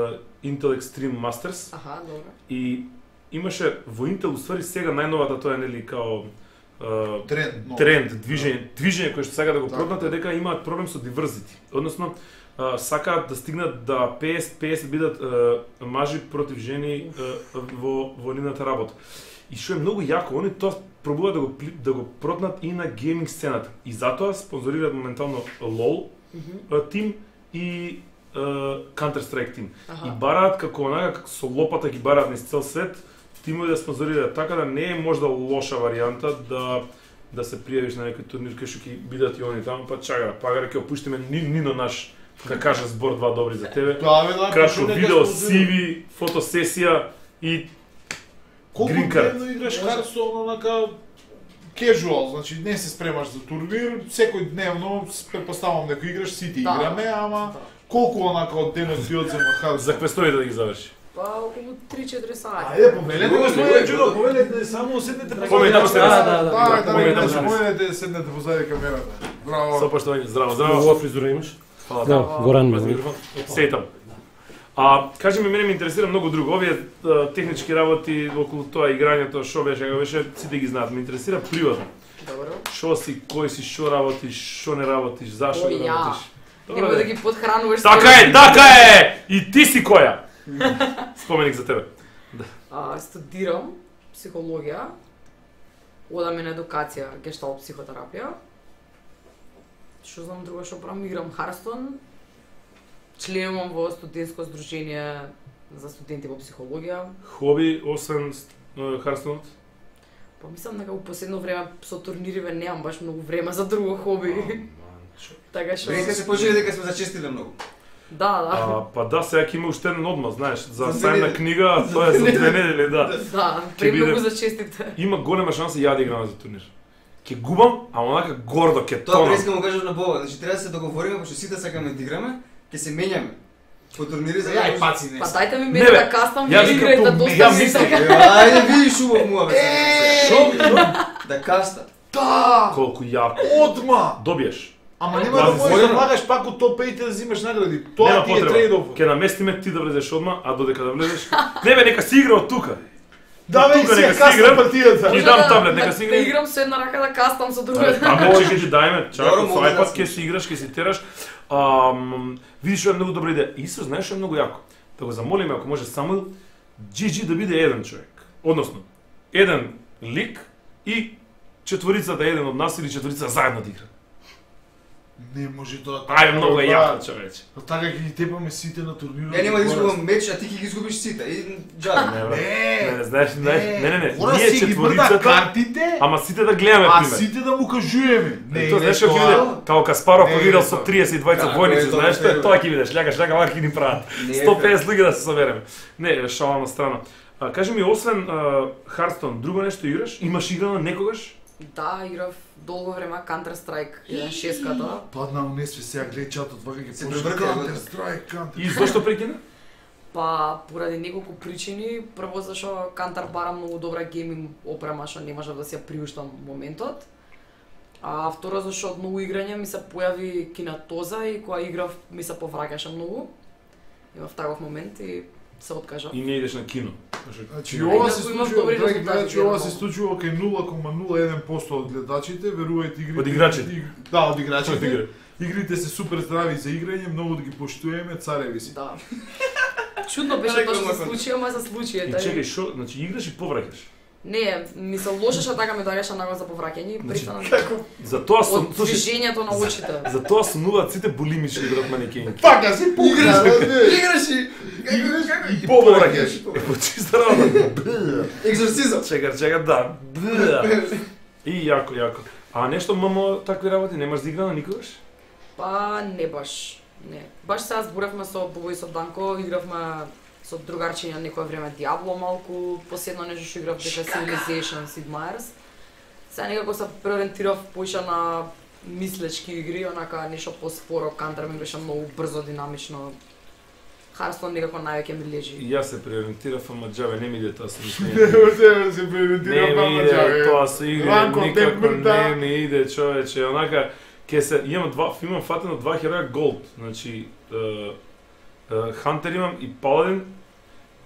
Intel Extreme Masters аха, добро. и имаше во Intel уствари сега најновата тоа е нели као е, uh, тренд, но. тренд, движење, движење кој што сака да го Така. проднат е дека имаат проблем со diversity. Односно, uh, сакаат да стигнат да петдесет петдесет бидат uh, мажи против жени uh, во во нивната работа. И што е многу јако, они тоа пробуваат да го пли- да го проднат и на гейминг сцената. И затоа спонзорираат моментално лол uh, тим и uh, Counter-Strike тим. Аха. И бараат како онака како со лопата ги бараат низ цел свет тимови да спонзорираат, така да не е можда лоша варијанта да да се пријавиш на некој турнир кај што ќе бидат и они таму, па чака, пагаре ќе опуштиме ни, Нино наш да каже збор два добри за тебе. Тоа бе да. Кратко пошо нека видео, спонзорира. сиви, фотосесија и Колку Green card. дневно играш Hearthstone онака casual, значи не се спремаш за турнир, секој дневно претпоставам дека играш, сите Да. играме, ама Да. колку онака од денот ти одзема за Hearthstone? квестовите да ги заврши. Па околу три-четири сати. Ајде, повелете Го, господине го, Джудо, го. повелете, само седнете позади Повелете, камерата. да, да, да. Да, да, Повелете, да, повелете. повелете, седнете позади камерата. Со Браво. поштовање, здраво, Здраво, здраво. фризура имаш? Фала. Да, Горан Пази ми. микрофон. Сејтам. А, кажи ми, мене ме интересира многу друго. Овие а, технички работи околу тоа играњето, што беше, како беше, сите ги знаат. Ме интересира приватно. Добро. Што си, кој си, што работиш, што не работиш, зашто О, не ја. работиш. Нема да ги подхрануваш. Така е, така е! И ти си која? Споменик за тебе. А, студирам психологија. Одам и на едукација, гешталт психотерапија. Што знам друго што правам, играм Hearthstone. Членувам во студентско здружение за студенти во психологија. Хоби, освен Hearthstone? Па мислам дека во последно време со турнириве немам баш многу време за друго хоби. Така што Преска се почели дека сме зачестиле многу. Да, да. А, па да, сега ќе има уште еден одма, знаеш, за За две сајмна недели. книга, а тоа е за две недели, да. Да, Ќе премногу биде- за честите. Има голема шанса ја да играм за турнир. Ќе губам, а онака гордо ќе Тоа тонам. преска му кажеш на Бога, значи треба да се договориме, пошто сите сакаме да играме, ќе се менјаме. По турнири за Ја и паци не. Па дајте ми Не, мене бе, да кастам јас ви викам играјте, тоа, доста ја ми мислам. така. Ајде видиш убав муа бе. Шо? Да каста. Да! Колку јако. Одма! Добиеш. Ама нема да Пази, можеш да војна. влагаш пак од топ пет да взимаш награди. Тоа Нема ти е потреба. трейд-оф. Ќе наместиме ти да влезеш одма, а додека да влезеш. Не бе, нека си игра од тука. Да бе, Тука си нека си касна играм. партијата. Ти Може дам да- таблет, нека да- си Да играј. играм со една рака да кастам со друга. Таблет ќе ти дајме, чака Добро, со може да iPad се- ќе си играш, ќе си тераш. Ам, видиш што е многу добра идеја. Исто знаеш што е многу јако. Да го замолиме ако може Самуил джи джи да биде еден човек. Односно, еден лик и четворицата еден од нас или четворицата заедно да игра. Не може тоа. Ајде, многу е јако, човече. А така ќе ги тепаме сите на турнирот. Ја нема да изгубам меч, а ти ќе ги изгубиш сите. И джаби. Не, бе. Не, Не, не, знаеш, знаеш, не, не, не. Мора Ние си ги брда четворицата, картите, ама сите да гледаме а пример. сите да му кажуваме. Не, тоа знаеш како ќе биде, као Каспаров Не, кој играл не, со тоа. триесет и дваесет Како војници, е тоа, знаеш што е, не, тоа ќе видиш, лягаш, ляга вака ќе ни прават. Не е сто педесет луѓе да се собереме. Не, шала на страна. А, кажи ми, освен а, Hearthstone, друго нешто играш? Имаш играно некогаш? Да, играв долго време Counter-Strike еден шестката. Падна унесве сега гледа чатот, вака ќе Се почне превртел, Counter да. Strike, Counter. И зошто прекина? Па поради неколку причини, прво зашо Counter бара многу добра гейминг опрема што не можев да си ја приуштам моментот. А второ зашо од многу играње ми се појави кинатоза и кога играв ми се повраќаше многу. Имав таков момент и се откажав. И не идеш на кино. Значи Ајде, ова ако се имав случува, добри драги резултати, гледачи, ова се генерално. случува кај нула кома нула еден проценти од гледачите, верувајте игрите. Од играчите. иг- Да, од играчите. Од игра. Игрите се супер здрави за играње, многу да ги поштуеме, цареви си. Да. Чудно беше Реклама тоа што се кон- случи, ама се случи. И ета, чекај, шо, значи играш и повраќаш. Не, ми се лошеше така ми доаѓаше наглас за повраќање и Значи, пристанам Затоа сум, од слушай, движењето на очите. затоа сумнуваат сите булимични играат манекени. Така си пукна, Играш и Играш и повраќаш. повраќаш. Е, по чиста работа. Екзорцизам. Чекар, чекар, да. И јако, јако. А нешто мамо такви работи немаш да игра на никогаш? Па не баш. Не. Баш сега зборавме со Бого и со Данко, игравме со другарчиња некое време Диабло малку, последно нешто што играв дека Civilization Sid Meier's. Сега некако се преориентирав поише на мислечки игри, онака нешто поспоро, Counter ми беше многу брзо, динамично. Hearthstone некако највеќе ми лежи. И јас се преориентирав, ама џабе не ми иде тоа со Не мислење. може да се преориентира Не ми пама иде џабе. тоа со игри, Ранко, никако темпмента. не ми иде, човече, онака ќе се имам два имам фатено два хероја голд, значи Хантер имам и Паладин,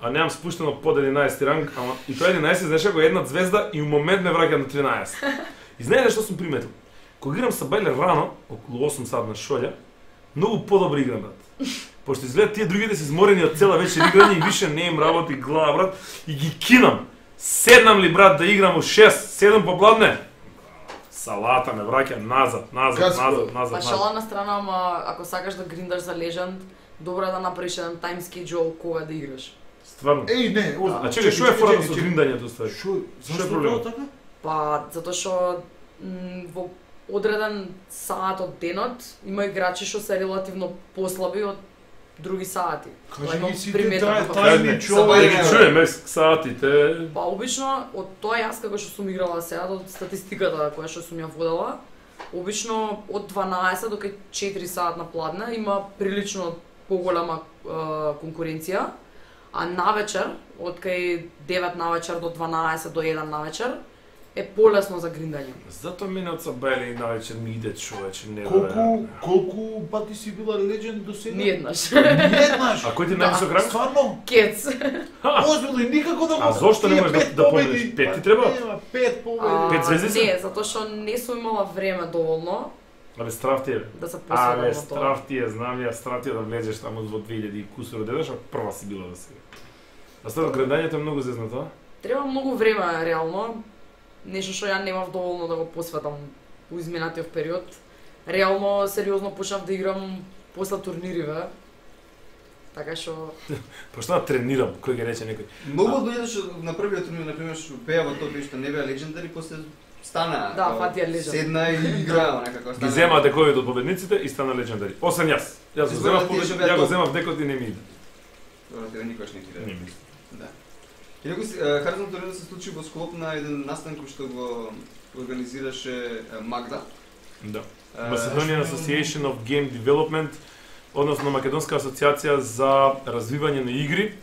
а немам спуштено под единаесети ранг, ама и тоа единаесети знаеш како една звезда и у момент ме враќа на тринаесет. И знаете што сум приметил? Кога играм са бајле рано, околу осум сат на шолја, многу подобро играм, брат. Пошто изгледа тие другите се изморени од цела вечер играње и више не им работи глава, брат, и ги кинам. Седнам ли, брат, да играм у шест, седам попладне? Салата ме враќа назад, назад, Каско. назад, назад, Па назад. шала на страна, ама ако сакаш да гриндаш за Legend, добро е да направиш еден time schedule кога да играш. Стварно. Еј, не, озбилно. А чекај, што е фората со гриндањето ствари? Шо, Што е зашто проблемот? тоа така? Па, затоа што м, во одреден саат од денот има играчи што се релативно послаби од други сати. Тоа Кажи имам ги сите приметено таа во тајни Са човек. бајле- Да ги чуеме саатите. Па обично од тоа јас како што сум играла сега од статистиката која што сум ја водела, обично од дванаесет до четири саат на пладне има прилично поголема е, конкуренција, а навечер од кај девет навечер до дванаесет до еден навечер е полесно за гриндање. Затоа мене од Сабајле и навечер ми иде човече, не Колку, колку пати си била легенд до сега? Ниеднаш. Ниеднаш. А кој ти Да. највисок ранг? Стварно? Кец. Озбилно и никако да го... А зошто не Тие можеш да- пет да победи, победиш? Пет ти па, треба? Нема, пет победи. А, Пет звезди се? Не, затоа што не сум имала време доволно Абе, страв ти е. да се Абе, посветам на тоа. страв ти е, знам ја, страв ти е да влезеш таму во две илјади и кусур одедеш, а прва си била да сега. А стварно, грендањето е многу зезнато, а? Треба многу време реално. Нешто што ја немав доволно да го посветам у изминатиот период. Реално сериозно почнав да играм после турнириве. Така што Пошто да тренирам, кој ги рече некој. Многу од луѓето што на првиот турнир, на пример, што пеа во тоа што не беа легендари, после стана. Да, као, фатија Legend. Седна и играа некако. Ги земаа дековите од победниците и стана легендари. Освен јас. Јас го Изборот земав ти е побед... што беа ја го топ. земав декот и не ми иде. Добро, тебе никош не ти Не иде. ми иде. Да. Инаку Харзон турнирот се случи во склоп на еден настан кој што го организираше е, Магда. Да. Е, Macedonian Association of Game Development, односно Македонска асоциација за развивање на игри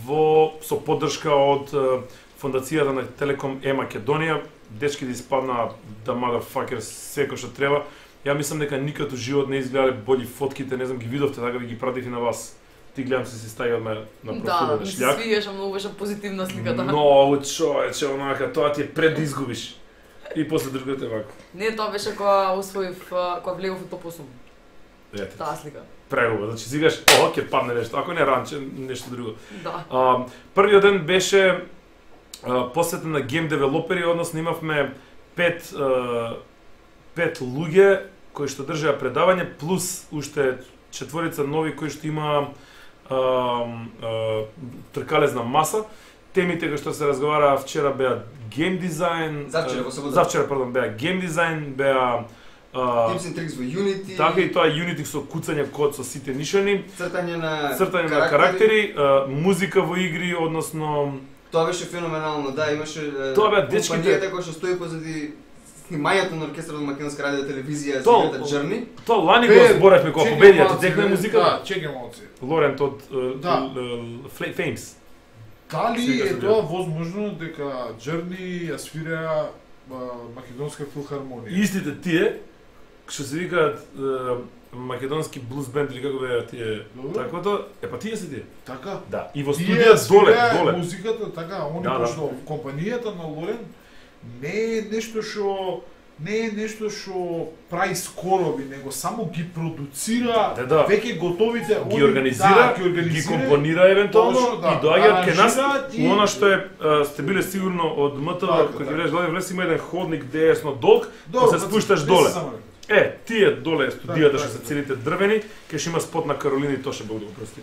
во со поддршка од е, фондацијата на Телеком Е Македонија. Дечките испаднаа да motherfuckers секој што треба. Ја мислам дека никад у живот не изгледале бољи фотките, не знам ги видовте, така ви ги пратив и на вас. Ти гледам се си стави одма на да, профилот на ми се шљак. свиѓаше, многу беше позитивна сликата. Многу човече, онака, тоа ти е пред да изгубиш. И после другото вака. Не, тоа беше кога усвоив, а, кога влегов во топ осум. Ете, Таа слика. прегуба. Значи сигаш, о, ќе падне нешто, ако не ранче, нешто друго. Да. А, првиот ден беше а, посветен на гейм девелопери, односно имавме пет а, пет луѓе кои што држеа предавање плюс уште четворица нови кои што има а, а, тркалезна маса. Темите кои што се разговараа вчера беа гейм дизајн, Завчера, а, во сабота. завчера, пардон, беа гейм дизајн, беа а, Tips and tricks во Unity. така и тоа Unity со куцање код со сите нишани, Цртање на цртање на карактери, а, музика во игри, односно Тоа беше феноменално, да, имаше е, Тоа беа дечките- компанијата која што стои позади снимањето на оркестарот на Македонска радио телевизија за Тоа- играта Journey. тоа лани го Пе, зборевме кога чекај победија, малце, ти текна бе, музика? Да, чекај малце. Лорент од е, Да. е, е, Flames. Дали Сега е се тоа возможно дека Journey ја свира а, Македонска филхармонија? Истите тие што се викаат е, македонски блуз бенд или како беа тие Добро. таквото, е па тие се тие. Така? Да, и во Тие студија доле, свираа доле. музиката, така, они Да, да. пошто компанијата на Лорен не е нешто што не е нешто што прави скороби, него само ги продуцира Да, да. веќе готовите, Ги они- организира, да, ги, ги, организира, компонира евентуално точно, да. и доаѓаат кај нас. Аранжираат и- У она што е а, сте биле сигурно од МТВ, Така, кога така. ќе влезеш доле, влез има еден ходник десно долг, Добро, па се па спушташ не се доле. заморете. Е, тие доле студијата Така, што се така. целите дрвени, кај што има спот на Каролина и Тоше, Бог да го прости.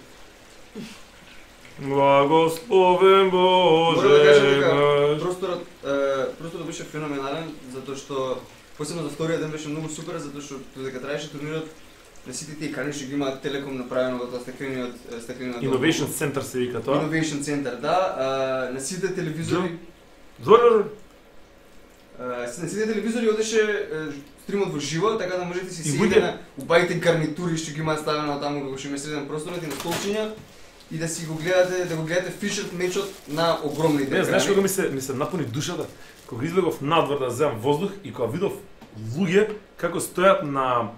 Благословен Боже Морам да кажам дека наш. просторот е, просторот беше феноменален затоа што посебно за вториот ден беше многу супер затоа што додека траеше турнирот на сите тие екрани што ги има Телеком направено во тоа стеклениот стеклениот Innovation Center се вика тоа. Innovation Center, да, а, на сите телевизори Зор, а, на сите телевизори одеше е, стримот во живо, така да можете си И седите буѓе- на убавите гарнитури што ги имаат ставено таму како што има среден просторот и на столчиња и да си го гледате, да го гледате фишерт мечот на огромните не, знаеш екрани. кога ми се ми се напуни душата, кога излегов надвор да земам воздух и кога видов луѓе како стојат на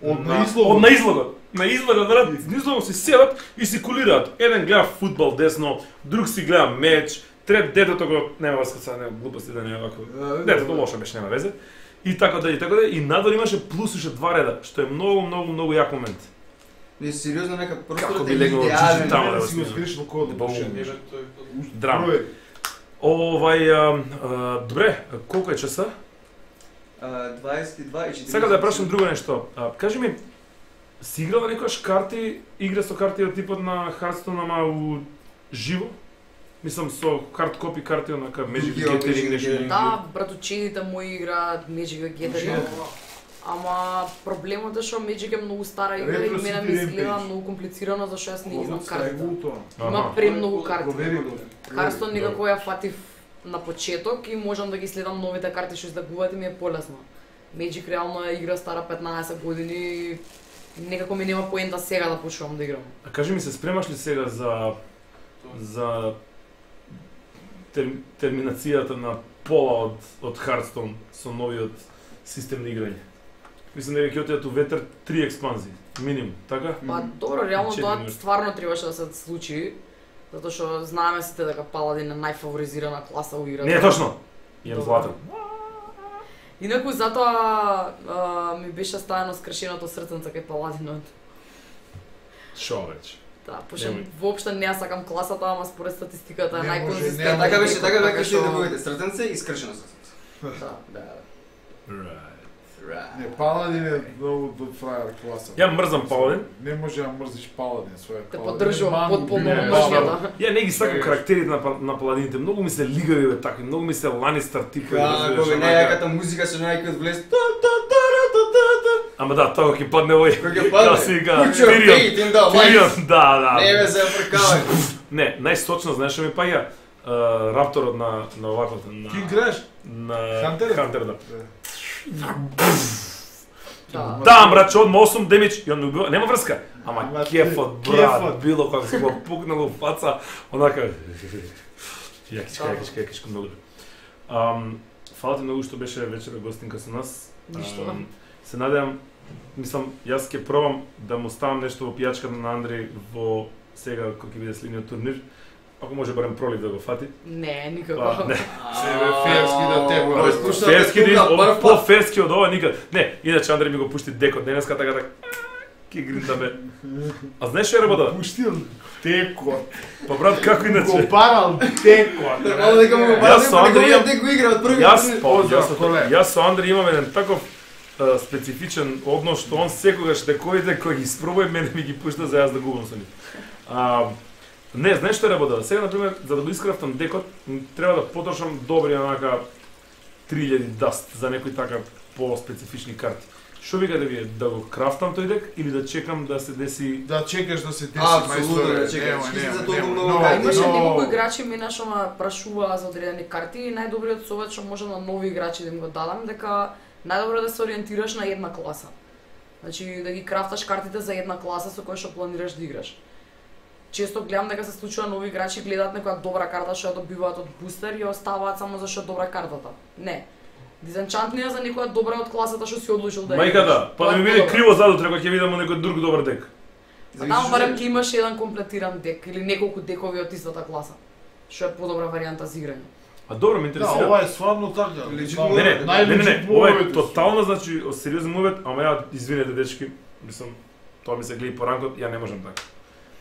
Од на излогот. Од на излогот. На излогот, брат, на излогот си седат и си кулираат. Еден гледа фудбал десно, друг си гледа меч, Трет детето го нема врска са, нема глупости да не е вако. Детето лошо беше, нема везе. И така да и така да и надвор имаше плюс уште два реда, што е многу многу многу як момент. Не сериозно нека Како просторот би е легнал идеален. чичи тамо да го си го снимам. скришно код. Драм. Овај, а, а, добре, колку е часа? дваесет и два и четиридесет. Сега да ја прашам друго нешто. А, кажи ми, си играла некојаш карти, игра со карти од типот на Hearthstone, ама у живо? Мислам со хард копи карти онака Magic the Gathering нешто. Да, братучедите мои играат Magic the Gathering. Ама проблемот е што Magic е многу стара игра и мене ми изгледа многу комплицирано зашто јас не ги знам картите. Има премногу карти. Hearthstone некако ја фатив на почеток и можам да ги следам новите карти што издагуваат и ми е полесно. Magic реално е игра стара петнаесет години и некако ми нема поента сега да почнувам да играм. А кажи ми се, спремаш ли сега за за тер, терминацијата на пола од од Hearthstone со новиот систем на играње? Мислам дека ќе отидат у ветер три експанзии, минимум, така? Па добро, реално Четири тоа минути. стварно требаше да се случи, затоа што знаеме сите дека Паладин е најфаворизирана класа у играта. Не е точно. Имам Добро. златен. Инаку затоа а, ми беше ставено скршеното срценце кај Паладинот. Шо веќе? Да, пошто Немој. воопшто не ја сакам класата, ама според статистиката е Не може, најконзистентна. не може. Така беше, така Така беше што- да бъдете срценце и скршено срценце. Да. Да. Right. Не, Паладин е многу до фрајер класа. Ја мрзам Паладин. Не може да мрзиш Паладин, своја Те Паладин. поддржувам Мангу, потполно не, мржњата. Ја не ги сакам Сега. карактерите на, па- на паладините, многу ми се лигави бе такви, многу ми се Ланистер типови. разбираш, Како бе онака. нејаката музика со некој влез. Та та та та та та. Ама да, тоа ќе падне овој. Кој ќе падне? Да си га, Put your Тирион. faith in the light. Тирион, да, да. Не ме се прекавај. Не, најсочно, знаеш што ми паѓа? Uh, рапторот на на оваквото на Ки играеш? на Хантер? Хантер, да. Да. Да, брат, одма осум демидж и он ме убива. Нема врска. Ама Ама кефот, брат, кефот. било кога се го пукнало в фаца, онака. Јакичка, јакичка, јакичка многу. Ам, фала ти многу што беше вечера гостинка со нас. Ништо. Ам, Се надевам, мислам, јас ќе пробам да му ставам нешто во пијачката на Андреј во сега кога ќе биде следниот турнир. Ако може барем пролив да го фати. Не, Па, никако. не. Себе ферски да те Ой, го. слушате, Ферски тука, да прв од пат. по-ферски од ова никад. Не, иначе Андреј ми го пушти декот денеска така така. Ки гриндаме. А знаеш што е работа? Пуштил текот. Па брат, како Го иначе? парал текот. Нормално дека му го Јас бавам, со Андреј дека имам- те го игра од први Јас, турнир. па, Поздрав, јас, колега. јас со Андреј имам еден таков а, специфичен однос што он секогаш дековите кои ги испробува мене ми ги пушта за јас да губам со нив. А, не, знаеш што е работа? Сега на пример за да го искрафтам декот, м, треба да потрошам добри онака три илјади даст за некои така по-специфични карти. Што вика да ви да го крафтам тој дек или да чекам да се деси? Да чекаш да се деси Апсолутно мајсторе. да чекаш. Нема, Ти си нема, за толку нема. многу Но, карти. Имаше но- неколку играчи мене што ме прашуваа за одредени карти и најдобриот совет што може на нови играчи да им го дадам дека најдобро е да се ориентираш на една класа. Значи да ги крафташ картите за една класа со која што планираш да играш. Често гледам дека се случува нови играчи гледаат некоја добра карта што ја добиваат од бустер и ја оставаат само зашто е добра картата. Не. Дизенчантнија за некоја добра од класата што си одлучил да ја Мајка да, па да Тоа е ми биде подобро. криво задутре кога ќе видам некој друг добар дек. Па таму барем ќе имаш еден комплетиран дек или неколку декови од истата класа. Што е подобра варијанта за играње. А добро ме Да, интересира. ова е стварно така. Legit Стварно, Не, не, не, не, не, најлегит ова е мовето. тотално, значи, сериозен мовет, ама ја, извинете, дечки, мислам, тоа ми се гледа по ранкот, ја не можам така.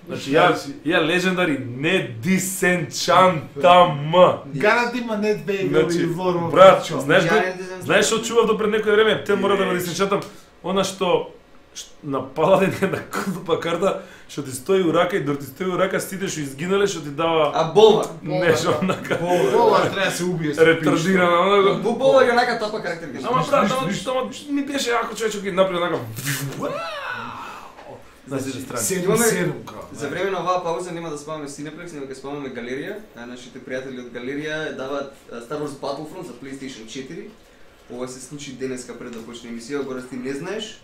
Значи, ја, ја легендари не дисенчантам. Гарант има нет бейби Значи, или вормо. брат, пичо. знаеш го- знаеш што чував до пред некој време, те мора да го дисенчантам, она што ш- на Паладин е на клупа карта, што ти стои у рака и дор ти стои у рака сите што изгинале, што ти дава А болва. нешто онака Ова треба да се убие. со ретардирано, онака. Бу болва е онака топа карактер. ги Ама знаеш. брат, ама ама ми беше ако човечок ги направи онака. На сите пичо. страни. Седум Имаме- седум као. За време на оваа пауза нема да спаваме Cineplex, него ќе спаваме Галерија. А нашите пријатели од Галерија даваат а, Star Wars Battlefront за PlayStation четири. Ова се случи денеска пред да почне емисија, го ти не знаеш.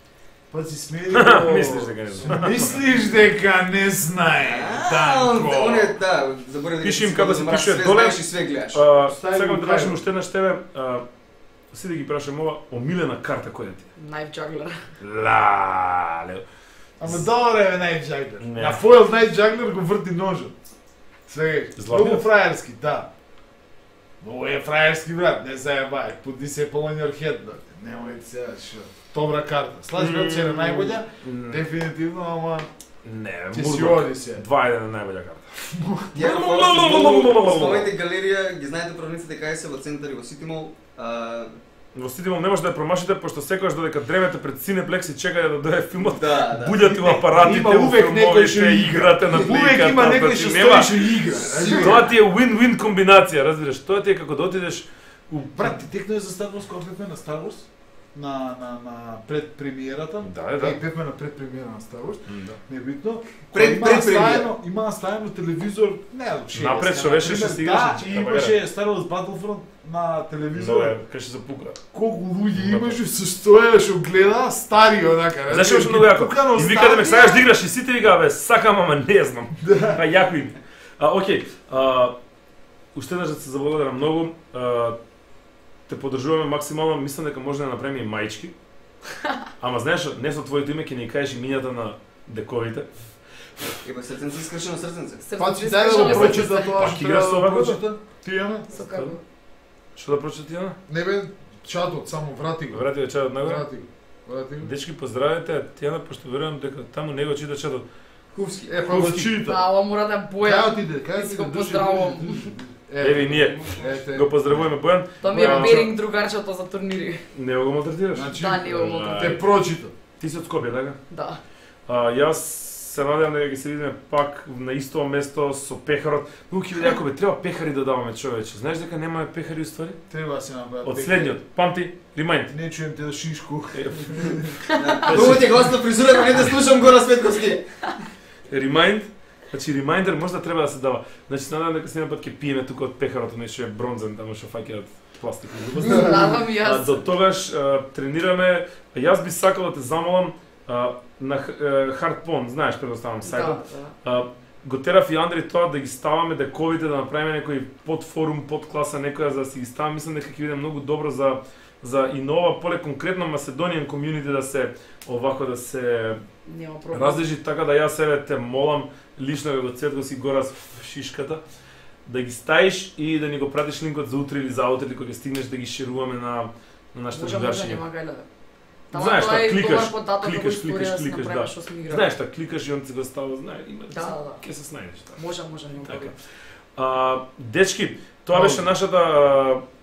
Па си смели. Мислиш дека не знам. Мислиш дека не знае. А, он Данко. он е да, заборав Пиши си им како се мраш, пишува све доле. знаеш и све гледаш. А, Стави Сакам го да крај. прашам уште еднаш тебе, а, си да ги прашам ова, омилена карта која ти е? Knife Juggler. Лале. Ама добре е Night Juggler. Не. На Foil Night Juggler го врти ножот. Сега, Златниот? многу фраерски, да. Ovo je frajerski брат, не заебај, put disciple on your head, брат. Немој сега што. Добра карта. Слаш брат се на најбоља, дефинитивно, ама Не, ќе си оди се. два еден на најбоља карта. Ја спомнете галерија, ги знаете правниците кај се во центар и во Сити Мол. Во Сити Мол не може да ја промашите, пошто секогаш додека дремете пред Cineplex и чекате да дое филмот, Да, да. буѓате во апаратите, Има во увек некој што филмовите, игра. играте на пликата. Увек има некој што стои што игра. Тоа ти е win-win комбинација, разбираш? Тоа ти е како да отидеш у Брат, ти текнуе за Star Wars кога бевме на Star Wars? На на на пред премиерата. Да, да. Е, бевме на пред премиера на Star Wars. Да. Небитно. Пред- пред премиера. Има наставено телевизор, не, че. Напред што беше што се играше. Да, и имаше Star Wars Battlefront на телевизор. Добре, кај што се пука. Колку луѓе имаше со стоја што гледа стари онака. Знаеш што многу јако? И викаде ме сакаш да играш и сите викаа бе, сакам ама не знам. А јако им. А окей, а уште еднаш да се заблагодарам многу. А, те поддржуваме максимално, мислам дека може да направиме и маички. Ама знаеш, не со твоето име ќе ни кажеш имињата на дековите. Еба срценце искршено срценце. Па ти дај да го прочита тоа Пак што играш со треба да овако? прочита. Ти Јане? Со како? Што да прочита Тијана? Не бе, чатот, само врати го. Врати да чатот нагоре. Врати го. Врати го. Дечки, поздравете Тијана, пошто верувам дека таму не го чита чатот. Хувски. Е, па го Хувски. чита. Да, ова мора да е Кај Бојан. отиде? Кај Си отиде? го Души, поздравувам. души, души. Еве и ние. Ете. Го поздравуваме Бојан. Тоа ми е А, беринг другарчето за турнири. Не го малтретираш? Значи, Да, не го малтретирам. те прочита. Ти си од Скопје, така? Да. А, јас се надевам дека ќе се видиме пак на исто место со пехарот. Многу ќе биде јако бе, треба пехари да даваме човече. Знаеш дека немаме пехари уствари? Треба да се направи. Од следниот. Памти, ремайнд. Не чуjem те да шишку. Многу ти гостна фризура, не да слушам Гора Светковски. Ремайнд. Значи ремайндер може да треба да се дава. Значи се надевам дека следниот пат ќе пиеме тука од пехарот, нешто е бронзен, таму што фаќаат пластик. Надам и А, јас. до тогаш а, тренираме. А јас би сакал да те замолам а, на Hardpon, знаеш, предоставам Да, сајтот. да. А, го терав и Андри тоа да ги ставаме дековите, да направиме некој подфорум, подкласа некоја за да си ги ставаме. Мислам дека ќе биде многу добро за за и нова поле конкретно Macedonian community да се овако да се Нема проблем. разлежи, така да јас еве те молам лично како Цветко си гора с шишката да ги ставиш и да ни го пратиш линкот за утре или за утре или кога ќе стигнеш да ги шеруваме на на нашите Може, може, другарчиња. нема гајле. Знаеш тоа што, е кликаш, добар податок кликаш, како кликаш, историја да си кликаш, направиме да. што сме играли. Знаеш што, кликаш и он ти го става, знае, има Да, да, да. ќе се снајдеш така. Може, може, нема Така. проблем. А, дечки, тоа беше нашата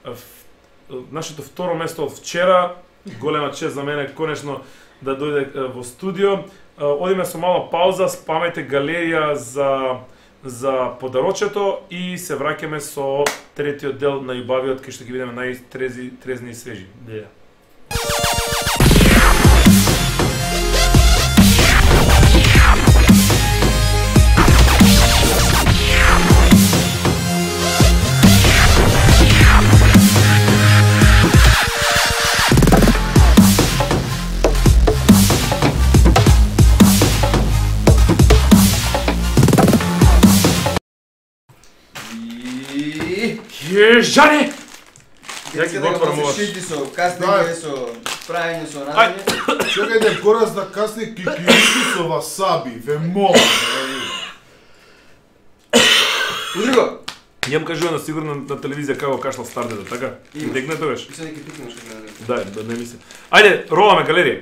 а, ф- нашето второ место од вчера. Голема чест за мене конечно да дојде а, во студио. А, одиме со мала пауза, спамете галерија за за подарочето и се враќаме со третиот дел на љубавиот кај што ќе бидеме најтрезни трезни и свежи. Леле. И... Јежани! Ја ги Ја го отворам се оваш. шити со кастинг, со правење со Ај. разни. Чекајте, корас да касни кикирики со васаби, ве молам. Удри го. Јам кажувано сигурно на телевизија како кашлал стардето, така? Има. Дегне тогаш. Мислам дека пикнеш како не. Да, да не мислам. Ајде, роламе галерија.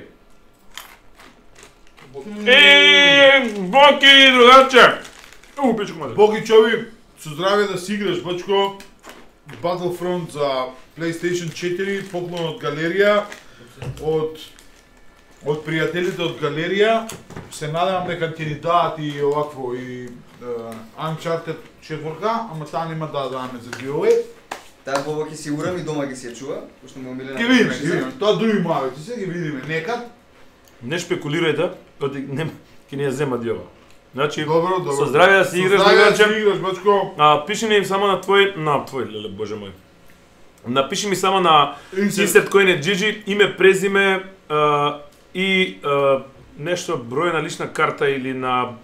Е, Боки, другарче! У, пичко маде. Богичови, со здравје да си играш, бачко. Battlefront за PlayStation четири, поклон од галерија, од од пријателите од галерија. Се надевам дека ќе ни дадат и овакво и uh, Uncharted четврка, ама таа нема да даваме за giveaway. Таа боба ќе си урам и дома ќе си ја чува, пошто му омилена. Ќе видиме, ќе видиме. Тоа други мавици, се ги видиме некад. Не шпекулирајте, оди не ќе ни ја зема диова. Значи, Добро, добро. со здравје да си играш, Со здравје да другарче. си играш, бачко. А, пиши ми само на твој, на твој, леле, боже мој. Напиши ми само на Insert кој не Gigi, име, презиме а, и а, нешто број на лична карта или на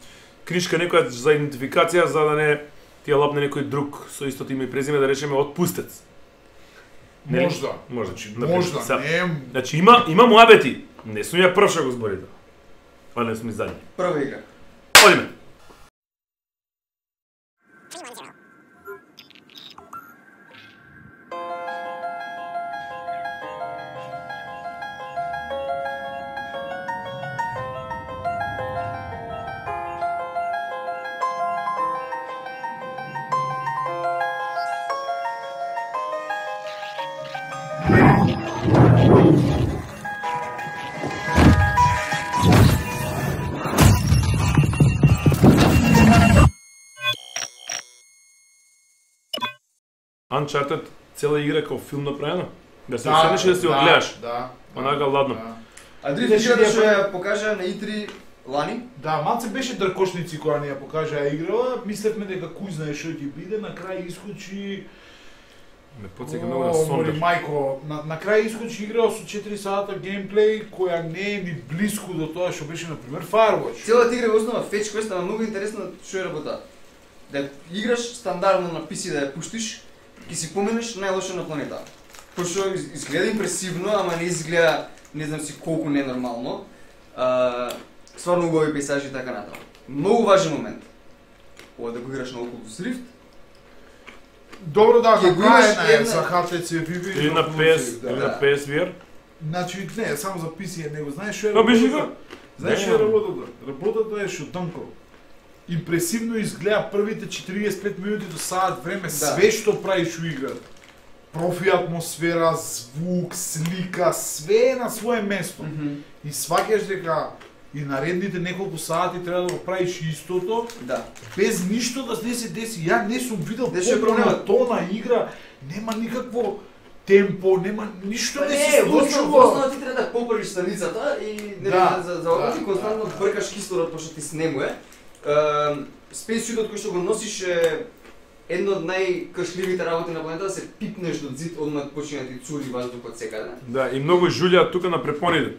книжка некоја за идентификација за да не ти ја лапне некој друг со истото име и презиме, да речеме отпустец. Нели? Можда. Можда, чи, например, Можда, са- не. Значи има има муабети. Не сум ја прв што го зборите. А не сум и задни. Прва игра. Одиме. Uncharted цела игра како филм направена. Да се седнеш и да си го гледаш. Да. Онака ладно. А Дрифт играта што ја покажа на И три лани? Да, малце беше дркошници кога ни ја покажа играла, мислевме дека кој знае што ќе биде, на крај искочи. Ме потсеќа многу на Мори Сондер. мајко, на, на крај искочи игра со четири сата геймплей која не е ни блиску до тоа што беше на пример Firewatch. Целата игра е основа фетч квест, ама многу интересно што е работа. Да играш стандардно на пи си да ја пуштиш, и си поминеш најлошо на планета. Пошто изгледа импресивно, ама не изгледа не знам си колку ненормално. А, стварно убави пейзажи и така натаму. Многу важен момент. Ова да го играш на Oculus Rift. Добро да, Ќе го направена имаш е една- за Х Т Ц Vive Или на П С, или на П С V R. Значи не, само за пи си е него. Знаеш што е? Па беше работата? го. Знаеш Не, што е не. работата? Работата е што танко. Импресивно изгледа првите четириесет и пет минути до саат време, све што правиш у играта. Профи атмосфера, звук, слика, све е на свое место. И сваќаш дека и наредните неколку сати треба да го правиш истото, Да. без ништо да не се деси. Ја не сум видел Дешо е попрана проблемот. тона игра, нема никакво темпо, нема ништо не се Не, во основа во случува. основа ти треба да поправиш станицата и не Да, за за ова ти да, константно да. бркаш кислород пошто ти снемуе. Space Suit кој што го носиш е едно од најкршливите работи на планетата, се пипнеш до зид, одмah почине ти цури ваздухот секаде. Да, и многу жулјаат тука на препоните.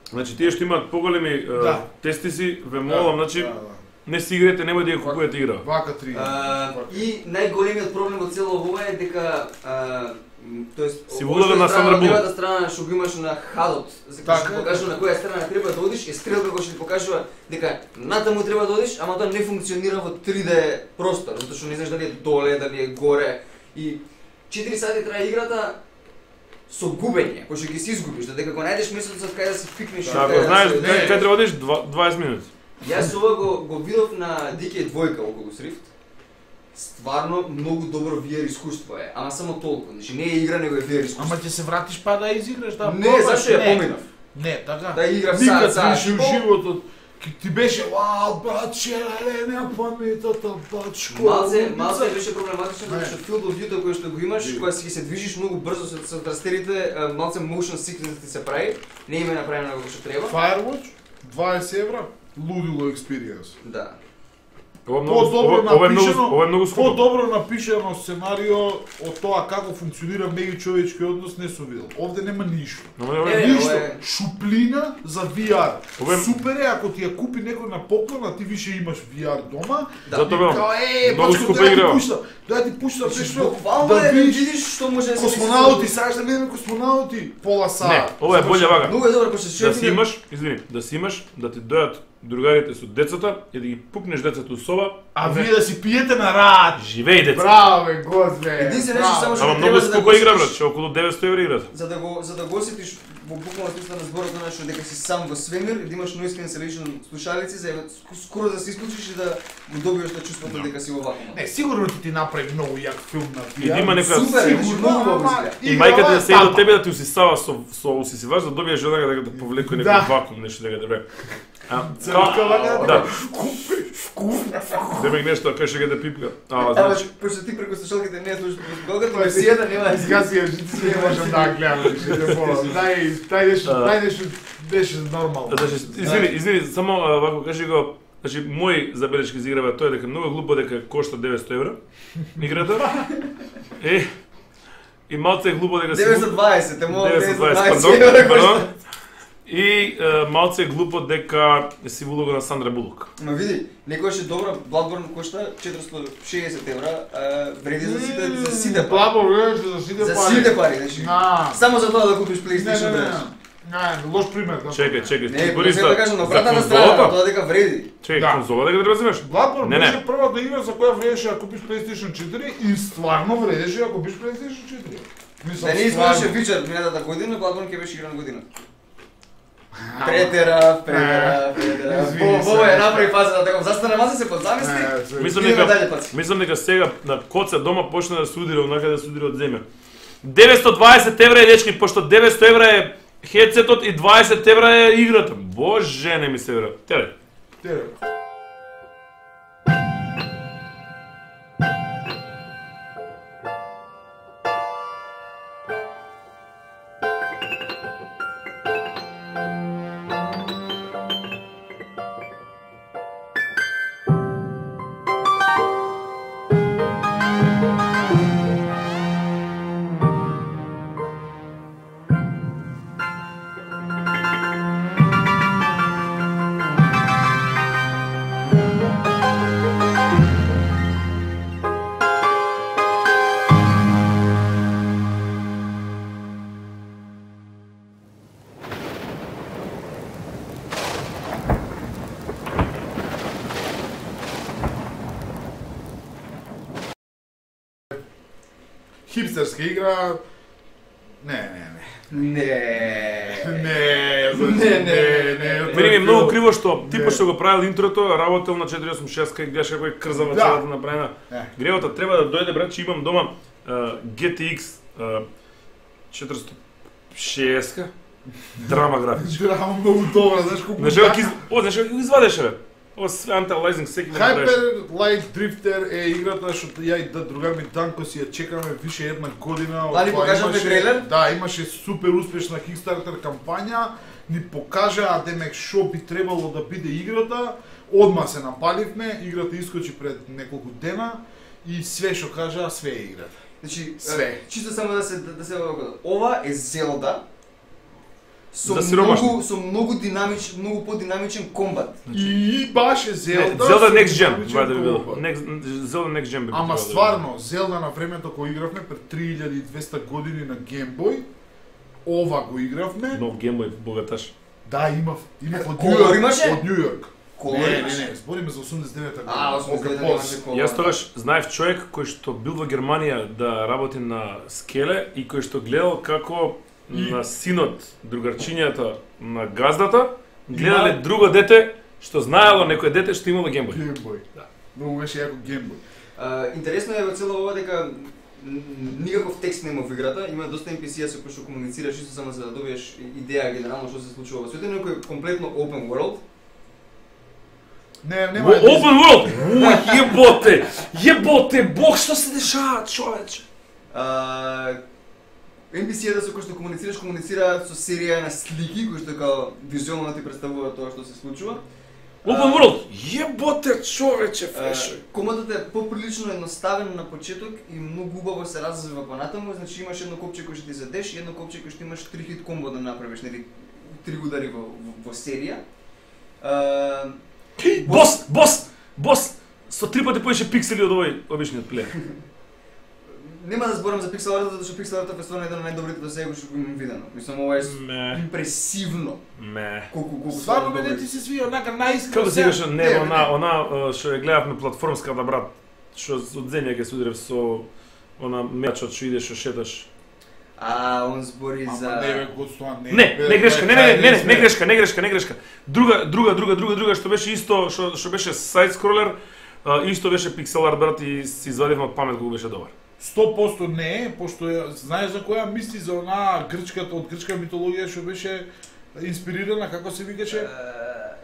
Значи тие што имаат поголеми е, Да. тестиси, ве молам, значи Да, да. не си играјте, немој да ја купувате игра. Вака три. А, и најголемиот проблем од цело ова е дека а, м, тоест Си ова влога што е на страна- Сандра Булок. левата страна што го имаш на хадот, за кој Така што е. покажува на која страна треба да одиш, е стрелка која што ти покажува дека натаму треба да одиш, ама тоа не функционира во три Д простор, затоа што не знаеш дали е доле, дали е горе и четири сати трае играта со губење, кој што ги си изгубиш, додека го најдеш местото кај да се пикнеш. Да, кај ако да знаеш се- кај кај треба одиш два- дваесет минути. Јас ова го, го видов на Ди Кеј два Oculus Rift. Стварно многу добро ви ар искуство е, ама само толку. Значи не е игра, него е ви ар искуство. Ама ќе се вратиш па да изиграш, да не, пробаш, зашто ја не. поминав. Не, така. Да играв Никад саат, саат ништо и у пол. животот. Ки ти беше, вау, баче, леле, на паметата, бачко. Малце, малце беше проблематично Не. затоа што field of view кој што го имаш, Ви. кога си се движиш многу брзо со, со трастерите, а, малце motion sickness ти се прави, не им е направено како што треба. Firewatch, дваесет евра, лудило experience. Да. Ова е многу По-добро ова, ова е многу напишано, ова е многу скупо. по-добро напишано сценарио од тоа како функционира меѓучовечки однос не сум видел. Овде нема ништо. Но ова Е, е Ништо, ова е- шуплина за ви ар. Ова е- Супер е ако ти ја купи некој на поклон, а ти више имаш ви ар дома. Да. Затоа И велам, као, е, многу бачко, скупа дај да игра. ти пушта, дај ти пушта, Значи, пешто, буквално да е да видиш видиш што може да се космонаути, сакаш да гледаме космонаути, пола Не, саат. ова е боле вака. Многу е добро, пошто што Да си имаш, извини, да си имаш, да ти дојдат другарите со децата и да ги пукнеш децата у соба. А вие да си пиете на рад. Живеј деца. Браво, бе, господе. Единствено нешто само што Ама треба многу за да скупа го игра, осетиш- брат, што околу деветсто евра играта. За да го за да го осетиш во буквално смисла на зборот на што дека си сам во свемир и да имаш noise cancellation слушалици за ск- скоро да се исклучиш и да го добиеш тоа чувството дека си во вакуум. Не, сигурно ти ти направи многу јак филм на И да има некоја- Супер, значи Сигурно, многу добро ама изгледа. И играва мајката е да седи до тапа. тебе да ти усисава со со усисивач да добиеш онака дека да повлекува некој Да. вакуум, нешто дека да бе. А, Црка вака да. Земек нешто кај што ќе да пипка. А, Ама значи, пошто ти преку слушалките не слушаш Голгата, ме си да нема. Сега си ја жици не можам да ја гледам, више не болам. Дај, дај нешто, А. дај нешто, беше нормално. значи, извини, извини, само а, вако кажи го, значи мој забелешки за играва тоа е дека многу глупо дека кошта деветсто евра играта. Е и малце е глупо дека си деветстотини и дваесет, те мога деветстотини и дваесет, деветстотини и пардон, дваесет. пардон. И е, малце е глупо дека си улога на Сандра Булок. Ма види, некојаш е добро, Bloodborne кошта четиристотини и шеесет евра, а, вреди за сите за сите пари. Бабо, гледаш за сите За пари. сите пари, значи. На. Само за тоа да купиш Не, PlayStation не, не. пет. Не, лош пример. да. Чекај, чекај, Не, ти не збориш сега да кажам на обратната страна, конзолата? тоа дека вреди. Чекај, Да. конзола дека треба да земеш? Bloodborne Не, не. беше првата игра за која вредеше да купиш PlayStation четири и стварно вредеше да купиш PlayStation четири. Мислам, Да не изгледаше стварно. Witcher минатата година, Bloodborne ќе беше игра на година. Претера, претера, претера. Извини се. Во, во е направи фазата, така застана маса се подзамисли. Не, се- Мислам Идеме дека дале, паци. мислам дека сега на коца дома почна да се удира, онака да се удира од земја. деветстотини и дваесет евра е дечки, пошто деветсто евра е хедсетот и дваесет евра е играта. Боже, не ми се вера. Тере. Тере. хипстерска игра. Не, не, не. Не. Не, Не, не, не. Мене ми е многу криво што Не. типот што го правил интрото, работел на четири осум шест и гледаш како е крзава Да. целата направена. Не. Гревата треба да дојде брат, че имам дома uh, Джи Ти Екс uh, четиристотини и шест драма графичка. Драма многу добра, знаеш колку... Знаеш како ги- о, знаеш како ги извадеше бе? Ова све анталайзинг секи го направиш. Hyper Light Drifter е играта што ја и да другар ми Данко си ја чекаме више една година. Да, ни Тоа покажавте имаше- трейлер? Да, имаше супер успешна Kickstarter кампања, ни покажа демек што би требало да биде играта. Одма се напаливме, играта искочи пред неколку дена и све што кажа, све е играта. Значи, Све. е, чисто само да се да, да се ова е Зелда со За сиромашни. многу со многу динамичен, многу подинамичен комбат. И баш е Зелда. Зелда со Next Gen, динамичен това да би било. комбат. Next- Зелда Next Gen би Ама било. стварно, Зелда на времето кога игравме пред три илјади и двесте години на Game Boy, ова го игравме. Нов геймбој богаташ. Да, имав, имав од Колор Нью Йорк, имаше? од Нью Йорк. Колор Не, не, имаше? не, збориме за осумдесет и девета година. А, осумдесет и девета Окей, имаше колор. Јас тогаш знаев човек кој што бил во Германија да работи на скеле и кој што гледал како И- на синот, другарчињата на газдата, гледале друго дете што знаело некој дете што имало геймбој. Game Boy. Да. Многу беше јако Game Boy. А, интересно е во цело ова дека н- никаков текст нема во играта, има доста Ен Пи Си-а со кои што комуницираш исто само за да добиеш идеја генерално што се случува во светот, но кој е комплетно open world. Не, Во нема Open World! О, јеботе! Јеботе, бог што се дешава, човече! А, Ен Пи Си-а со кои што комуницираш, комуницираат со серија на слики кои што као визуелно ти представуваат тоа што се случува. Open World! Јеботе, човече, А, фрешо! Командот е поприлично едноставен на почеток и многу убаво се развива понатаму, значи имаш едно копче кој што ти задеш и едно копче кој што имаш три хит комбо да направиш, нели три удари во, во, во серија. А, Бос, бос, бос! Со три пати поише пиксели од овој обичниот плеер. нема да зборам за пиксел арт, затоа што пиксел артот е стварно еден од најдобрите до сега што го имам видено. Мислам ова е с- Ме, импресивно ме. колку колку Стварно добри. мене ти се свија онака наискрено. Како се викаше, не, не, она, она е, што ја гледавме платформската брат, што од земја ќе се удрев со она мечот што идеш што шеташ. А, он збори Ама за не бе, Гостоа, не. Не, бе, не грешка, не, не, не, не, не, сме. не грешка, не грешка, не грешка. Друга, друга, друга, друга, друга што беше исто, што што беше сайд скролер, а, исто беше пиксел арт брат и си извадивме од памет колку беше добар. сто проценти не е, пошто ја, знаеш за која мисли за онаа грчката од грчка митологија што беше инспирирана, како се викаше?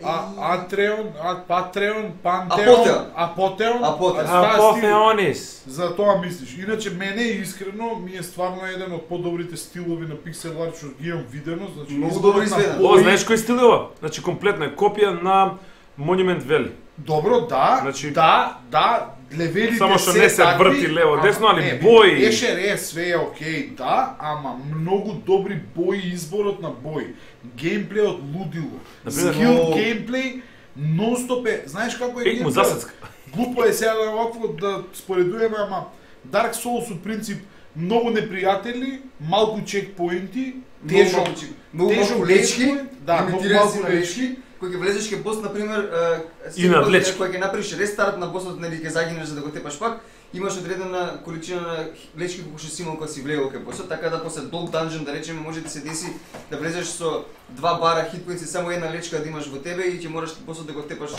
А, Атреон, а, Патреон, Пантеон, Апотеон. Апотеон, Апотеон. а, таа стил- Апофеонис. За тоа мислиш. Иначе мене искрено ми е стварно еден од подобрите стилови на пиксел арт што ги имам видено, значи Многу изборот добро на изведен. бои- Ова знаеш кој стил е ова? Значи комплетна е копија на Monument Valley. Добро, да, Значи- да, да, левелите Само што се не се такви, врти лево, ама десно, али не, бои. Еше ре, све е окей, да, ама многу добри бои, изборот на бои, геймплејот лудило, Например, скил но- геймплеј, нон-стоп е, знаеш како е Еј му геймплејот? засецка. Глупо е сега да овакво да споредуваме, ама Dark Souls у принцип многу непријатели, малку чекпоинти, тежок, Многу малку- многу тежок малку лечки, геймплеј, да, многу лимитирани си малку на лечки. лечки, кој ќе влезеш ке бос на пример, е, И на секој пат влечки. Кој ќе направиш рестарт на босот, нели ќе загинеш за да го тепаш пак, имаш одредена количина на лечки колку што си имал кога си влегол ке босот, така да после долг данжен да речеме може да се деси да влезеш со два бара хитпоинтси, само една лечка да имаш во тебе и ќе мораш босот да го тепаш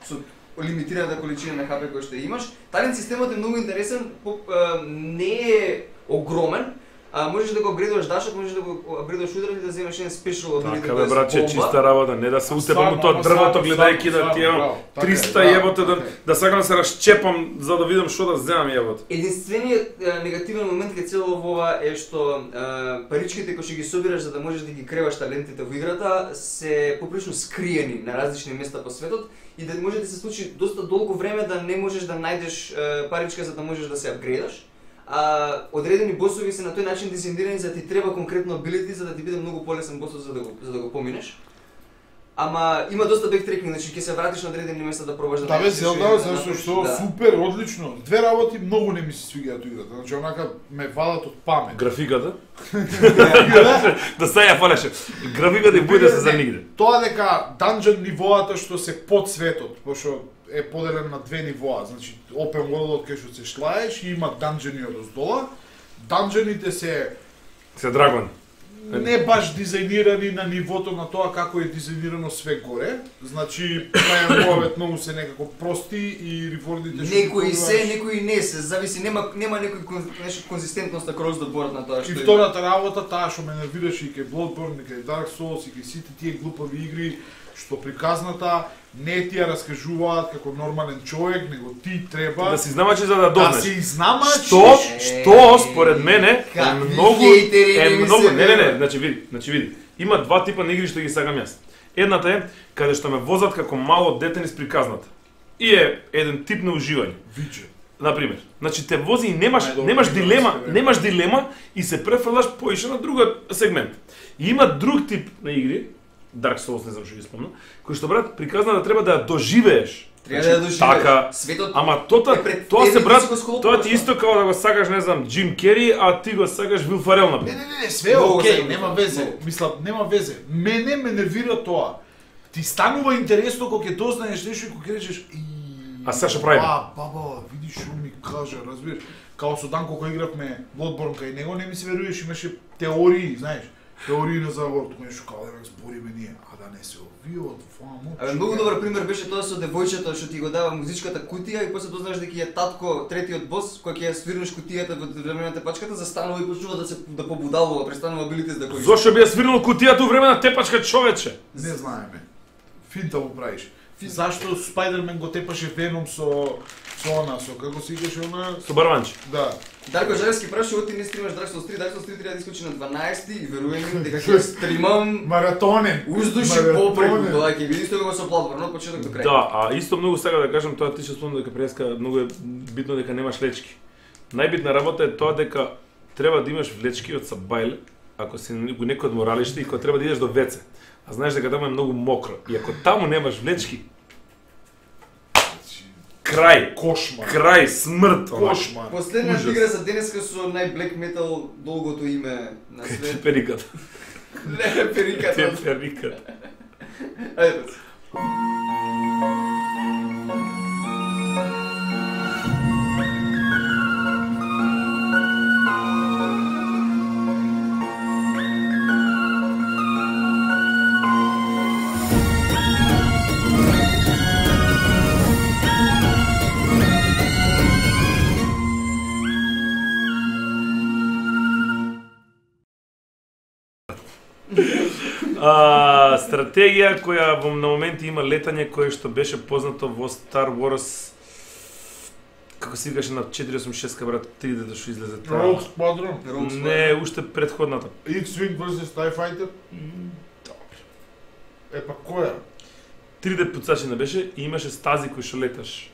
со лимитираната количина на ХП кој што ја имаш. Талент системот е многу интересен, по, е, не е огромен, а можеш да го апгрейдуваш дашот, можеш да го апгрейдуваш ударот и да земеш еден спешал апгрейд. Така бе братче, чиста работа, не да се утепам у тоа Стварно, дрвото стварно, гледајќи да стварно, ти имам браво, така е, триста браво, јеботе да така е. да сакам да се расчепам за да видам што да земам јебот. Единствениот е, негативен момент кај цело ова е што е, паричките кои што ги собираш за да можеш да ги креваш талентите во играта се поприлично скриени на различни места по светот и да може да се случи доста долго време да не можеш да најдеш е, паричка за да можеш да се апгрейдаш. А одредени босови се на тој начин дизајнирани за да ти треба конкретно абилити за да ти биде многу полесен босот за да го за да го поминеш. Ама има доста бектрекинг, значи ќе се вратиш на одредени места да пробаш да Да бе, најдеш Зелда, да зашто направиш, што да. супер, одлично. Две работи многу не ми се свиѓаат у играта. Значи онака ме валат од памет. Графиката? Да се ја фалеше. Графиката и боите се за нигде. Тоа дека данџен нивоата што се под светот, пошто е поделен на две нивоа, значи open world кај што се шлаеш и има данџени од оздола. Данџените се се драгон. не баш дизајнирани на нивото на тоа како е дизајнирано све горе. Значи, најмовет многу се некако прости и ревордите што Некои се, некои не се, зависи, нема нема некој кон, нешто конзистентност на cross the board на тоа што И има. втората работа, таа што ме нервираше и кај Bloodborne, и кај Dark Souls, и кај сите тие глупави игри, што приказната не ти ја раскажуваат како нормален човек, него ти треба Да си знамачи за да да дознеш. се изнамачиш. Што, што според мене е Какви многу хейтери е не ми многу се не не не, веруваат. значи види, значи види. Има два типа на игри што ги сакам јас. Едната е каде што ме возат како мало дете низ приказната. И е еден тип на уживање. Виче. На пример, значи те вози и немаш Најдобро немаш игра дилема, на себе. немаш дилема и се префрлаш поише на друга сегмент. И има друг тип на игри, Dark Souls, не знам што ги спомнам, кој што брат приказна да треба да ја доживееш. Треба да ја доживееш. Така, Светот ама тоа е пред тоа тебе се и брат, ти си го сколопуваш, тоа ти тоа. исто како да го сакаш, не знам, Джим Кери, а ти го сакаш Вил Фарел на Не, пример. не, не, не, све е Многу окей, се нема многу. везе. Многу. Мислам, нема везе. Мене ме нервира тоа. Ти станува интересно кога ќе дознаеш нешто и кога ќе речеш и А сега што правиме? А, баба, видиш што ми кажа, разбираш? Као со Данко кој игравме Bloodborne кај него не ми се веруваш, имаше теории, знаеш, теории на заговор, тоа нешто као да збориме ние, а да не се овиот, фамо. Абе, многу добар пример беше тоа со девојчето што ти го дава музичката кутија и после дознаеш дека е татко третиот бос кој ќе ја свирнеш кутијата во време на тепачката, застанува и почнува да се да побудалува, престанува билите да кои. Зошто би ја свирнал кутијата у време на тепачка човече? Не знаеме. Финта му правиш. Зашто Спайдермен го тепаше Веном со со она, со како се викаше она? Со барванче. Да. Дарко Жаревски праша, оти не стримаш Dark Souls три, Dark Souls три треба да искочи на дванаесети и верувај ми дека ќе стримам Маратонен. уздуши Маратонен. попреку тоа, ќе видиш тоа со Bloodborne од почеток до крај. Да, а исто многу сака да кажам тоа ти што спомна дека преска многу е битно дека немаш влечки. Најбитна работа е тоа дека треба да имаш влечки од сабајле, ако си го некој од моралиште и кога треба да идеш до веце. А знаеш дека таму е многу мокро. И ако таму немаш влечки, крај, Кошмар. крај, смрт, онака. Кошмар. Последната Ужас. игра за денеска со нај-блек метал долгото име на свет. Периката. Не, периката. Те периката. Ајде. А, стратегија која во на моменти има летање кое што беше познато во Star Wars, како се викаше на четиристотини и осумдесет и шест брат, три дето што излезе таа. Rogue Squadron. Не, уште предходната. X-Wing versus TIE Fighter. Епа која? три Д пуцачи не беше и имаше стази кои што леташ.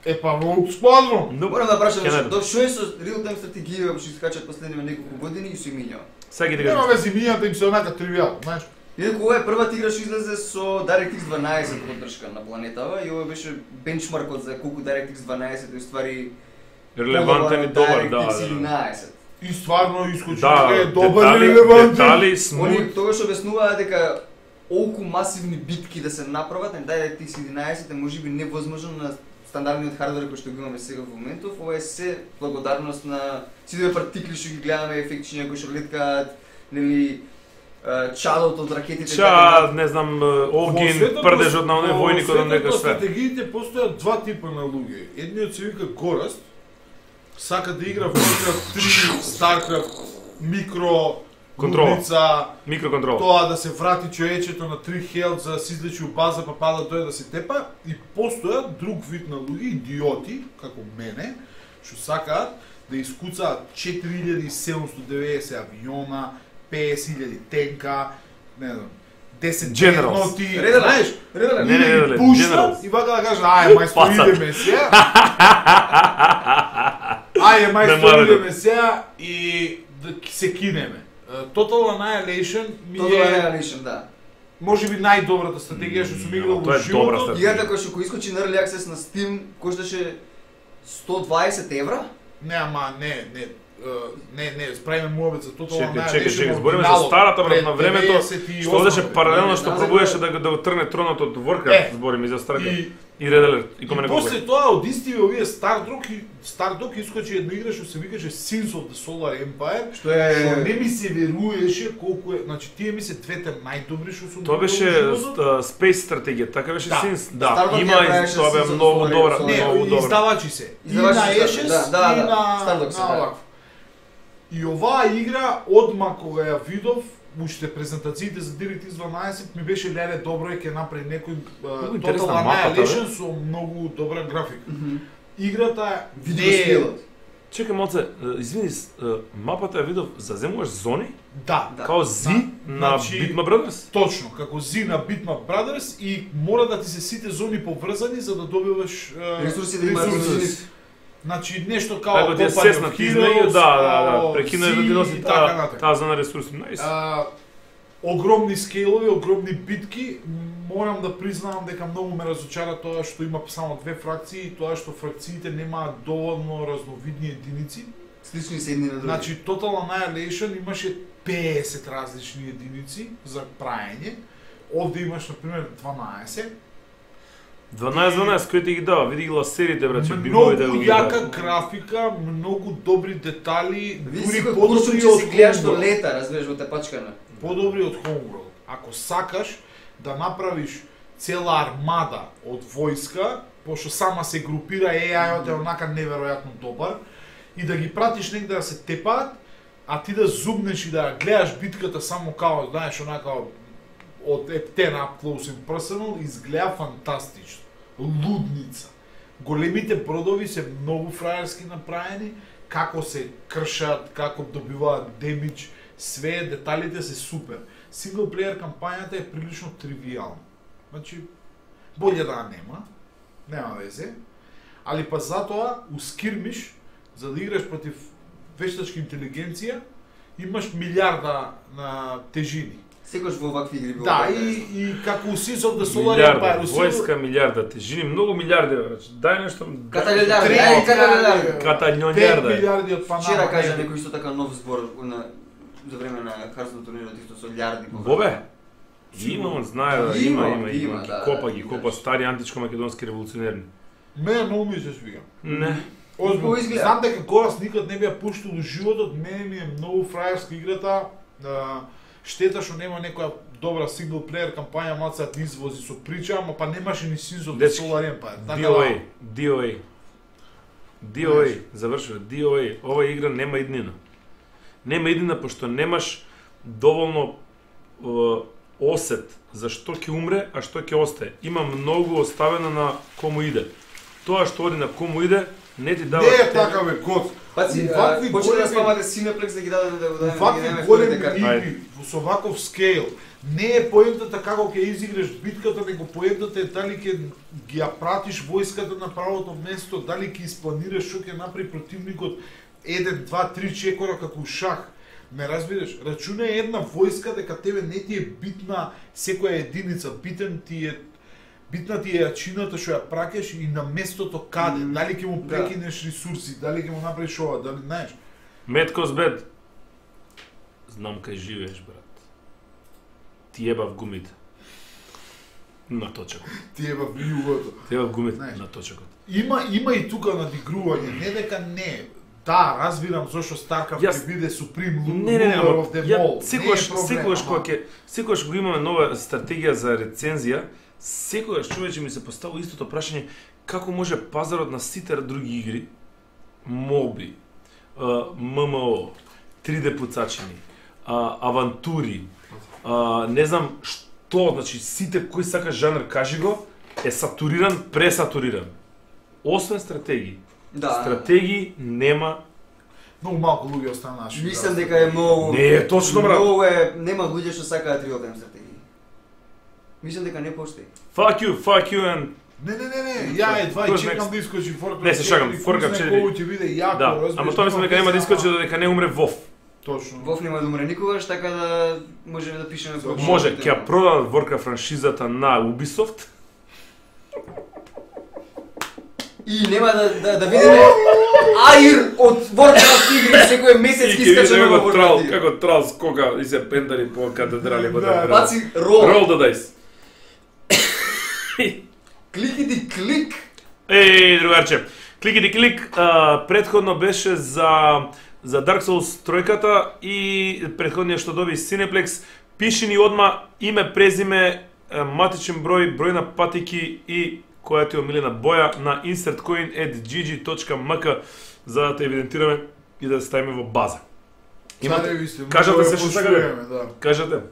Епа Rogue Squadron. Но Морам да прашам, Ќе што најдам. до што е со real time стратегија што искачат последниве неколку години и се минјава. сега ги Нема кажам. вези мијата им се онака тривијално, знаеш. Инаку ова е првата игра што излезе со DirectX дванаесет поддршка на планетава и ова беше бенчмаркот за колку DirectX дванаесет е ствари Релевантен и добар, да, DirectX да. единаесет. И стварно искочи Да, е добар детали, релевантен. детали, Они смут. тогаш обяснуваат дека олку масивни битки да се направат на DirectX единаесет е можеби невозможно на стандардниот хардвер кој што го имаме сега во моментов. Ова е се благодарност на сите партикли што ги гледаме, ефектични кои што леткаат, нели а, чадот од ракетите. Ча, не знам, Во огин, светот прдежот на во оној војникот од нека светот на све. стратегиите постојат два типа на луѓе. Едниот се вика Гораст, сака да игра Warcraft три, Starcraft, микро, Контрола. лудница, Микроконтрол. тоа да се врати човечето на три хелт за да се излечи у база па пада тој да се тепа и постојат друг вид на луѓе, идиоти, како мене, што сакаат да искуцаат четири илјади седумстотини и деветдесет авиона, петдесет илјади тенка, не знам, десет Generals. дредноти, Ределе. знаеш, Ределе. Не, не, не, или не, пуштат Generals. и вака да кажат, ај, мајстор, Пасат. идеме сега. Ајде, Не мајстор, мора да- идеме сега и да се кинеме. Е, Total Annihilation ми Тоа е е реалишен, да. можеби најдобрата стратегија што сум играл Тоа во е добра животот. стратегија. Играта која што кој искочи на Early Access на Steam кошташе сто дваесет евра. Не, ама не, не. не, не, правиме муабет за Total Чекај, Annihilation. чекај, чекај, збориме за старата брат на времето, што одеше паралелно што Да, пробуваше да, да да го трне тронот од Warcraft, Е, збориме и за старата. И И Red Alert, и И коме не после тоа од истиве овие Stardog и Stardog искочи една игра што се викаше Sins of the Solar Empire, Што е што не ми се веруеше колку е, значи тие ми се двете најдобри што сум Тоа беше играл во животот. ст- Space стратегија, така беше Да. Sins. Да, Stardog има ја и правеше тоа бе Sins of the многу Solar добра, Empire. Не, многу добра. издавачи се. И Издавачи на се, Ashes, да, да, и да. на Stardog се, на да. овакво. И оваа игра одма кога ја видов, уште презентациите за DirectX дванаесет ми беше леле добро е ќе направи некој Многу uh, интересна Total мапата, Annihilation со многу добра графика. Играта Видео не е стилот. Чекај малце, е, извини, с- е, мапата ја видов, заземуваш зони, да, Да. као зи на Значи- Bitmap Brothers? точно, како зи на Bitmap Brothers и мора да ти се сите зони поврзани за да добиваш uh, Ресурси да имаат ресурси. Значи нешто као Како ти е Company сесна of ти измеѓу, Heroes, да, да, да, као прекинува да Sea ти носи и така таа натаму. таа зона ресурси, најс. А, огромни скейлови, огромни битки, морам да признавам дека многу ме разочара тоа што има само две фракции и тоа што фракциите немаат доволно разновидни единици. Слични се едни на други. Значи Total Annihilation имаше петдесет различни единици за праење. Овде имаш на пример дванаесет. дванаесет дванаесет кој ти ги дава, види ги ласерите браче, Многу бигови да ги јака дава. графика, многу добри детали, Види дури си кој подобри курсор че од си гледаш што Homeworld. лета, разбираш во тепачкана. Подобри од Homeworld. Ако сакаш да направиш цела армада од војска, пошто сама се групира, Е Ај-от е онака неверојатно добар, и да ги пратиш негде да се тепаат, а ти да зубнеш и да ја гледаш битката само као, знаеш, онака од ептен up close and personal, изгледа фантастично. Лудница. Големите бродови се многу фраерски направени, како се кршат, како добиваат демидж, све деталите се супер. Синглплеер кампањата е прилично тривијална. Значи, болje да ја нема, нема везе, али па затоа у скирмиш, за да играш против вештачка интелигенција, имаш милиарда на тежини. Секојаш во вакви игри било. Да, така, и, и како у Sins of the Solar Милиарда, Empire, у Sins- војска милиарда, тежини многу милиарди браче. Дај нешто. Каталилјарди, Три ај, милиарди. каталилјарди. Каталјонјарда. пет милиарди од Панама. Вчера кажа не, некој исто така нов збор на за време на Харстон турнирот исто со лјарди. Бобе, има, он знае, да, има, Има, има, има, има, да, ги да, копа, ги да, копа да. стари античко-македонски револуционерни. Мене многу ми се свига. Не. Озбилно, Хубаво изгледа. знам дека Горас никад не би ја пуштил во животот, мене ми е многу фраерска играта. А, штета што нема некоја добра синглплеер кампања, малце да извози со прича, ама па немаше ни Sins of the Дечки, Solar Empire. Така ди о ей, да, ди о ей. ди о ей, завршува, ди о ей. Ова игра нема иднина. Нема иднина пошто немаш доволно е, осет за што ќе умре, а што ќе остае. Има многу оставено на кому иде. Тоа што оди на кому иде, не ти дава... не е така бе, год. Паци, Вакви почне да големи- спамате Cineplex да ги даде да го дадеме Вакви да ги дадеме големи вторите карти. игри со ваков скейл, не е поентата како ќе изиграш битката, него поентата е дали ќе ги ја пратиш војската на правото место, дали ќе испланираш што ќе направи противникот еден, два, три чекора како у шах. Ме разбираш? Рачунај една војска дека тебе не ти е битна секоја единица, битен ти е битна ти е јачината што ја праќаш и на местото каде, Мм, дали ќе му да. прекинеш ресурси, дали ќе му направиш ова, дали знаеш. Меткос бед. Знам кај живееш, брат. Ти еба в гумите. На точакот. Ти е во југото. Ти еба в гумите Знаеш. на точакот. Има има и тука надигрување, не дека не. Да, разбирам зошто Старкрафт Јас- ќе биде Supreme Lu- Не, не, не, Ruler ама of the ја Mall. секогаш, Не е проблем, секогаш ама. кога ќе секогаш кога имаме нова стратегија за рецензија, секогаш човече ми се поставува истото прашање како може пазарот на сите други игри, моби, ем ем о, три де пуцачини, а, авантури, а, не знам што, значи сите кој сака жанр кажи го, е сатуриран, пресатуриран. Освен стратегии. Да. Стратегии нема. Многу малку луѓе останаа. Мислам дека е многу. Не е точно, брат. Многу е, нема луѓе што сакаат реал тайм стратегии. Мислам дека не постои. Fuck you, fuck you and Не, не, не, не, ја едва и Who's чекам next? да искочи Warcraft. Не, се шагам, четири, Warcraft кој знае четири. колку ќе биде јако, да, разбираш, ама тоа мислам дека нема да искочи дека не умре Вов. Точно. Вов нема да умре никогаш, така да можеме да пишеме про Може, ќе ја продадат Warcraft франшизата на Ubisoft. И нема да да, да видиме Аир од Warcraft игри секој месец ги искача на како трал, Warcraft. како трал скока и се пендари по катедрали по така. Баци рол. Roll the dice. Кликиди клик. Еј, другарче. Кликиди клик, а, предходно беше за за Dark Souls тројката и предходниот што доби Cineplex. Пиши ни одма име, презиме, матичен број, број на патики и која ти е омилена боја на insertcoin at g g dot m k за да те евидентираме и да се ставиме во база. Имате, кажете се што сакате. Да. Кажете.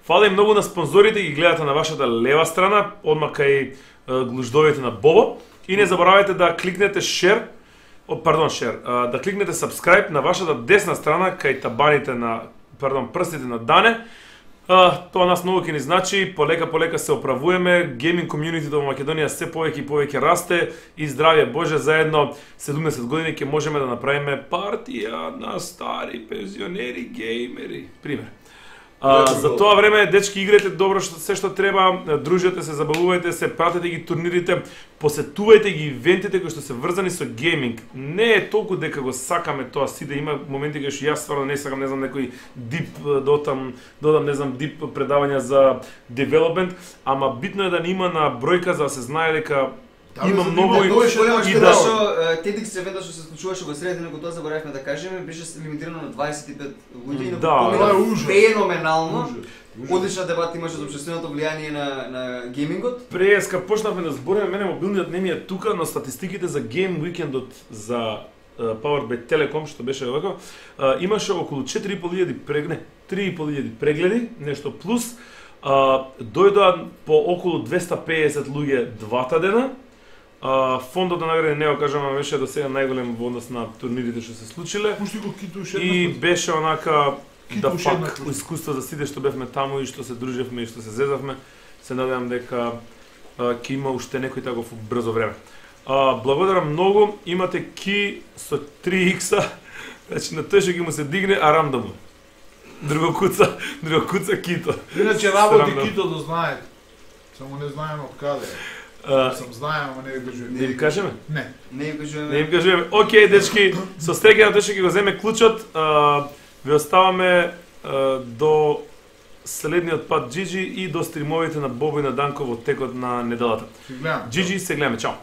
Фала и многу на спонзорите, ги гледате на вашата лева страна, одма кај глуждовите на Бобо. И не заборавајте да кликнете share, о, пардон, share, а, да кликнете subscribe на вашата десна страна кај табаните на, пардон, прстите на Дане. А, тоа нас многу ќе ни значи, полека полека се оправуваме, гейминг комјунитито во Македонија се повеќе и повеќе расте и здравје Боже, заедно седумдесет години ќе можеме да направиме партија на стари пензионери геймери, пример. А, за тоа време, дечки, играте добро што се што треба, дружете се, забавувајте се, пратете ги турнирите, посетувајте ги ивентите кои што се врзани со гейминг. Не е толку дека го сакаме тоа, си да има моменти кога што јас стварно не сакам, не знам, некој дип додам, додам, не знам, дип предавања за development, ама битно е да не има на бројка за да се знае дека има многу и и да да што TEDx евентот што се случуваше во средина, кога тоа заборавме да кажеме, беше лимитирано на дваесет и пет луѓе и на Да, тоа е ужас. феноменално. Одлична дебата имаше за општественото влијание на на геймингот. Прес кога почнавме да збориме, мене мобилниот не ми е тука, но статистиките за Game Weekendот за uh, Powered by Telecom, што беше овако, uh, имаше околу четири и пол илјади прегледи, три и пол илјади прегледи, нешто плюс, uh, дојдоа по околу двесте и песет луѓе двата дена. Uh, фондот на награди не го кажам, ама беше до сега најголем во однос на турнирите што се случиле. Пушти го китуш И беше онака да Китуш пак еднакво. искуство за сите што бевме таму и што се дружевме и што се зезавме. Се надевам дека uh, ќе има уште некој таков брзо време. Uh, благодарам многу, имате ки со три икса, значи на тој што ќе му се дигне, а рам да му. Друго куца, друго куца кито. Иначе работи Срамно. кито да знаете. Само не знаеме од каде. Uh, Сам знаем, ама не го кажуваме. не им кажеме? Не. Не им кажуваме. Не им кажуваме. Океј, дечки, со среќа на тој што ќе го земе клучот, а, ви оставаме а, до следниот пат Джиджи и до стримовите на Бобо и на Данко во текот на неделата. Си гледам. Джиджи, се гледаме, чао.